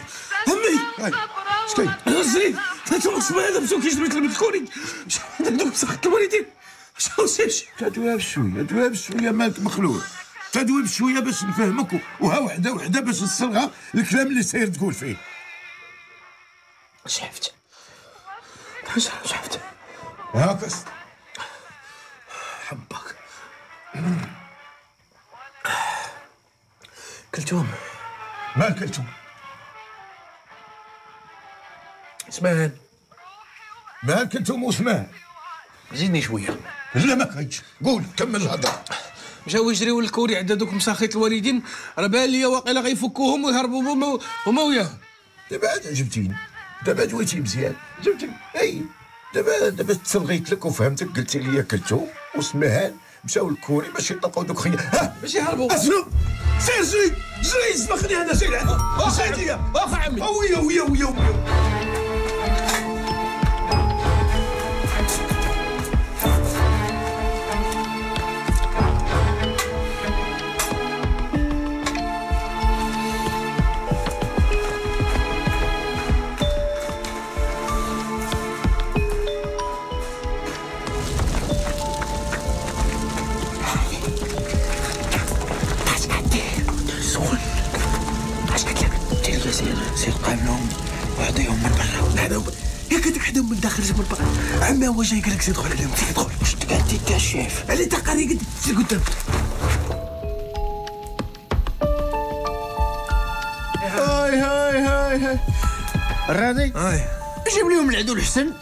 عمي اش كاين؟ زيد هاتو الصباح هذا مشاو كيجريو يتلمد الكوري دوك سخط الوالدين. تدويها بشوية تدويها بشوية مالك مخلوع. تدوي بشوية باش نفهمك وها وحده وحده باش نصلغى الكلام اللي ساير تقول فيه. شحفت شحفت هاك حبك كلتوم. مال كلتوم؟ اسمعان. مال كلتوم واسمعان؟ زيدني شوية. لا ما كاينش، قول كمل الهضرة. مشاو يجريو الكوري عند دوك مساخيط الوالدين، راه بان ليا واقيلا غيفكوهم ويهربوا هما هما وياهم. دابا عاد عجبتيني، دابا دويتي مزيان، عجبتك. اي دابا دابا تسلغيت لك وفهمتك، قلتي لي كلتوم وسمهان مشاو للكوري باش يطلقوا دوك خيا. ها باش يهربوا. اشنو؟ سير جري جري سمخني هنا سير عندي. واخا عمي واخا عمي. ويا ويا ويا ويا. عمي هو جاي قال لك زيد دخل عليهم، زيد دخل. واش قالت انت الشيف؟ علي تقاري قد سير قدام. هاي هاي هاي هاي الراضي هاي جيب لهم العدو الحسن.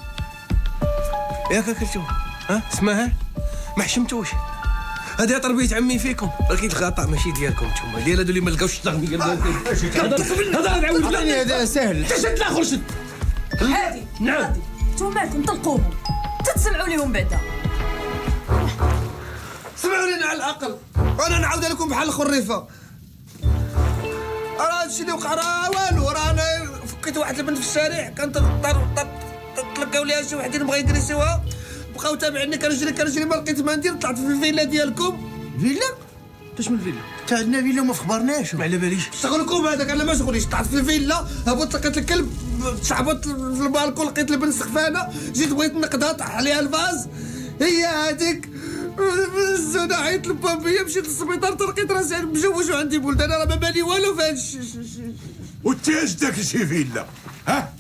ياك كلتو ها اسمعها ما حشمتوش. هذه تربيه عمي فيكم، ولكن الخطا ماشي ديالكم نتوما، ديال هادو اللي ما لقاوش التغميه. هذا نعاود لا هذا ساهل. شد الاخر شد. هادي نعم نتوما مالكم طلقوهم تتسمعوا ليهم بعدا. سمعوا لينا على الاقل، انا نعاود لكم بحال الخريفه. راه هادشي اللي وقع راه والو، راه انا فكيت واحد البنت في الشارع كانت تلقاو ليها شي وحدين بغا يدريسيوها، بقاو تابعيني كنجري كنجري ما لقيت ما ندير، طلعت في الفيلا ديالكم. فيلا؟ اش من فيلا؟ تا عندنا فيلا وما فخبرناش. ما على باليش. شغلكم هذاك، انا ما شغليش. طلعت في الفيلا، هبطت لقيت الكلب، تشعبط في البالكون، لقيت البنت سخفانه، جيت بغيت نقدها طاح عليها ال vase. هي هذيك الزونه، عيطت لبابيا، مشيت للسبيطار تلقيت راسي مجوج وعندي ولد. انا راه ما بالي والو في هذا الشيء. وانت اش داك شي فيلا؟ ها؟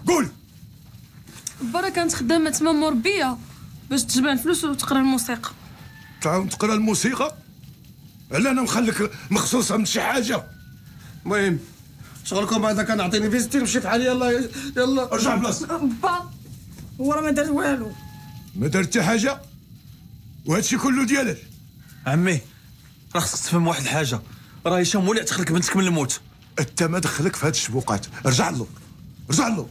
قول. برا كانت خدامه تما مربيه باش تجمع الفلوس وتقرا الموسيقى. تعاون تقرا الموسيقى؟ على انا مخليك مخصوصة من شي حاجة. المهم شغلكم هذا كان عطيني فيستي نمشي في حالي. يلا يلا ارجع بلاصتك. با هو راه ما دار والو. ما دار حتى حاجة وهادشي كله ديالك. عمي راه خصك تفهم واحد الحاجة، راه هشام هو اللي عتقلك بنتك من الموت. انت ما دخلك في هاد الشبوقات، رجع له رجع له.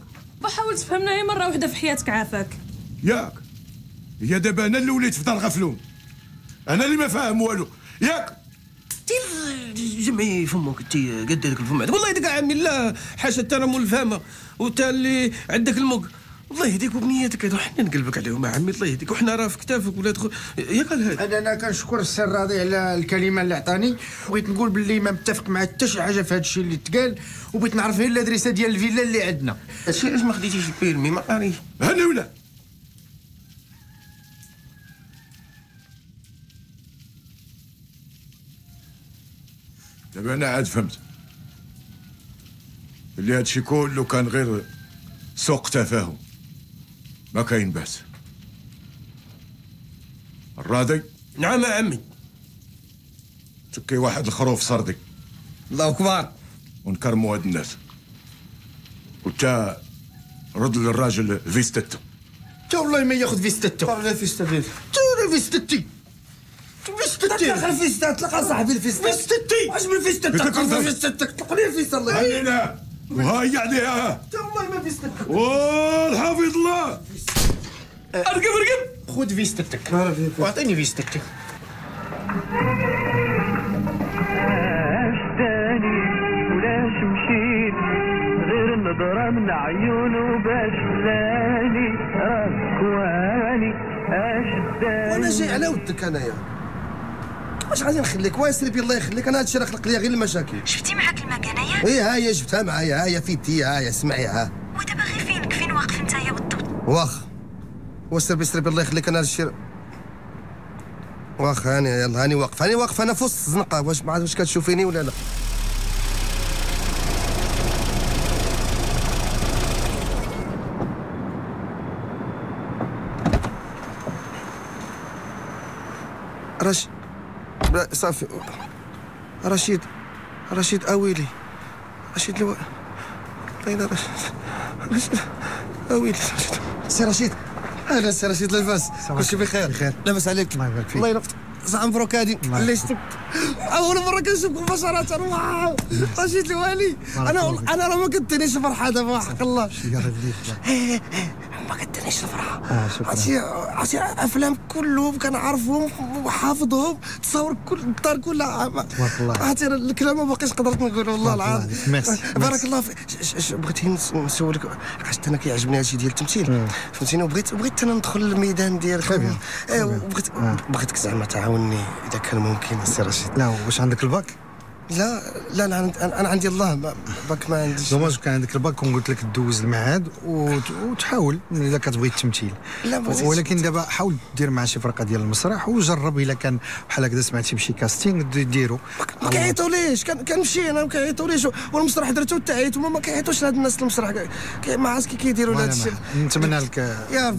حاول تفهمنا غير مرة واحدة في حياتك عافاك. ياك هي دابا انا اللي وليت في دار غفلون، انا اللي ما فاهم والو ياك. جمعي فمك انت قد هذاك الفم عندك. والله يديك عمي لا حاشا انت راه مول الفهمه وانت اللي عندك المك. الله يهديك وبنياتك هادو حنا نقلبك عليهم عمي، الله يهديك وحنا راه في كتافك ولا دخل ياك الهادي. انا انا كنشكر السي الراضي على الكلمة اللي عطاني، بغيت نقول باللي ما متفق مع حتى شي حاجة في هذا الشيء اللي تقال، وبغيت نعرف غير l'adresse ديال الفيلا اللي عندنا. هادشي علاش ما خديتيش ال permis ما قاريش؟ هاني ولا دابا انا عاد فهمت اللي هادشي كله كان غير سوق تفاهم، ما كاين باس. الراضي؟ نعم يا عمي. تكي واحد الخروف سردي. الله اكبر. ونكرموا هاد الناس. وتا رد للراجل فيستتو. تا والله ما ياخذ فيستتو. لا فيستا ديالك. تا فيستتي. فيستتي. طلق الفيستا، طلق صاحبي الفيستا. فيستتي. اش من فيستا؟ طلق فيستتك، طلق لي الفيستا الله يهديك. وهاي عليها. تا والله ما فيستتك. والحافظ الله. ارقب ارقب. خذ فيستتك واعطيني فيستتك. اشتاني ولاش مشيت غير النظرة من عيونه باش خلاني ركواني اشداني. وانا جاي على ودك انايا، واش غادي نخليك؟ واسري بي الله يخليك، انا هادشي راه خلق لي غير المشاكل. شفتي معاك المكانة؟ ايه ها هي جبتها معايا، ها هي في يدي، ها هي اسمعي ها. ودابا غير فينك، فين واقف نتايا بالضبط؟ واخ وسربي سربي الله يخليك، انا هادشي واخ هاني، يلا هاني واقف، هاني واقف انا في وسط الزنقة، واش ما عرفت واش كتشوفيني ولا لا. رشيد صافي، رشيد رشيد اويلي، رشيد الو... الله رشيد رشيد اويلي رشيد. سي رشيد، اهلا سي رشيد، لاباس؟ كلشي بخير؟ بخير لاباس عليك؟ الله يبارك فيك. الله ينفعك. صح مبروك هادي اللي شفتك اول مرة كنشوفك مباشرة. واو رشيد الوالي، انا انا راه ما كدينيش الفرحة دابا وحق الله. ما كدينيش الفرحة. عرفتي عرفتي افلام كلهم كنعرفهم وحافظهم، تصاور كل الدار كلها. تبارك الله. عرفتي الكلام ما باقيش قدرت نقول والله العظيم. ميرسي بارك الله فيك. بغيت نسولك، حيت انا كيعجبني هادشي ديال التمثيل فهمتيني، وبغيت بغيت انا ندخل للميدان ديالك. وبغيت بغيتك زعما تعاونني اذا كان ممكن سي رشيد. لا واش عندك الباك؟ لا لا انا انا عندي الله باك ما عنديش. dommage كان عندك الباك كون قلت لك دوز المعهد وتحاول الا كتبغي التمثيل. لا ولكن دابا حاول دير مع شي فرقه ديال المسرح وجرب، الا كان بحال هكذا سمعتي بشي casting ديرو. ما كيعيطوليش، كنمشي انا ما كيعيطوليش، والمسرح درتو تاعيت وما كيعيطوش لهاد الناس المسرح، ما عرفتش كي كيديروا لهاد الشيء. نتمنى لك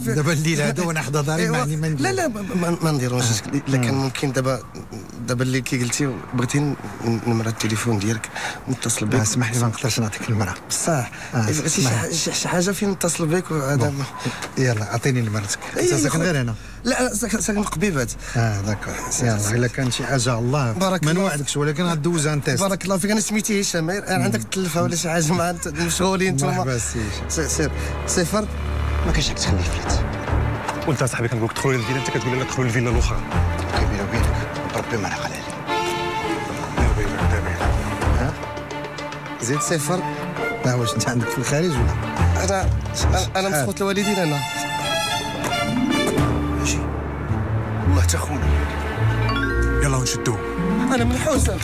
دابا الليل هذا وانا حدا داري ما عندي ما ندير. لا لا ما نديروش الا كان ممكن. دابا دابا اللي كي قلتي بغيتي نمرة التليفون ديالك نتصل بك. اسمح لي ما نقدرش نعطيك المرة. بصح بغيتي شي حاجة فين نتصل بك وهذا. يلا عطيني نمرتك. انت ساكن غير هنا؟ لا ساكن قبيبات. اه d'accord. يلا الا كان شي حاجة الله ما نوعدكش ولكن غدوز un test. بارك الله فيك. انا سميتي هشام، عندك تلفه ولا شي حاجة مع مشغولين انتم. مرحبا سي. سير صفر ما كاينش حق تخلي فلات. وانت صاحبي كنقول لك دخلوا للفيلا، انت كتقول لنا دخلوا للفيلا الاخرى. بيني وبينك ربي ما نعقل عليك. زيد صفر. لا واش انت عندك في الخارج ولا؟ انا انا مسخوط الوالدين انا. حتى خونا. يلا ونشدوه. انا من حسن.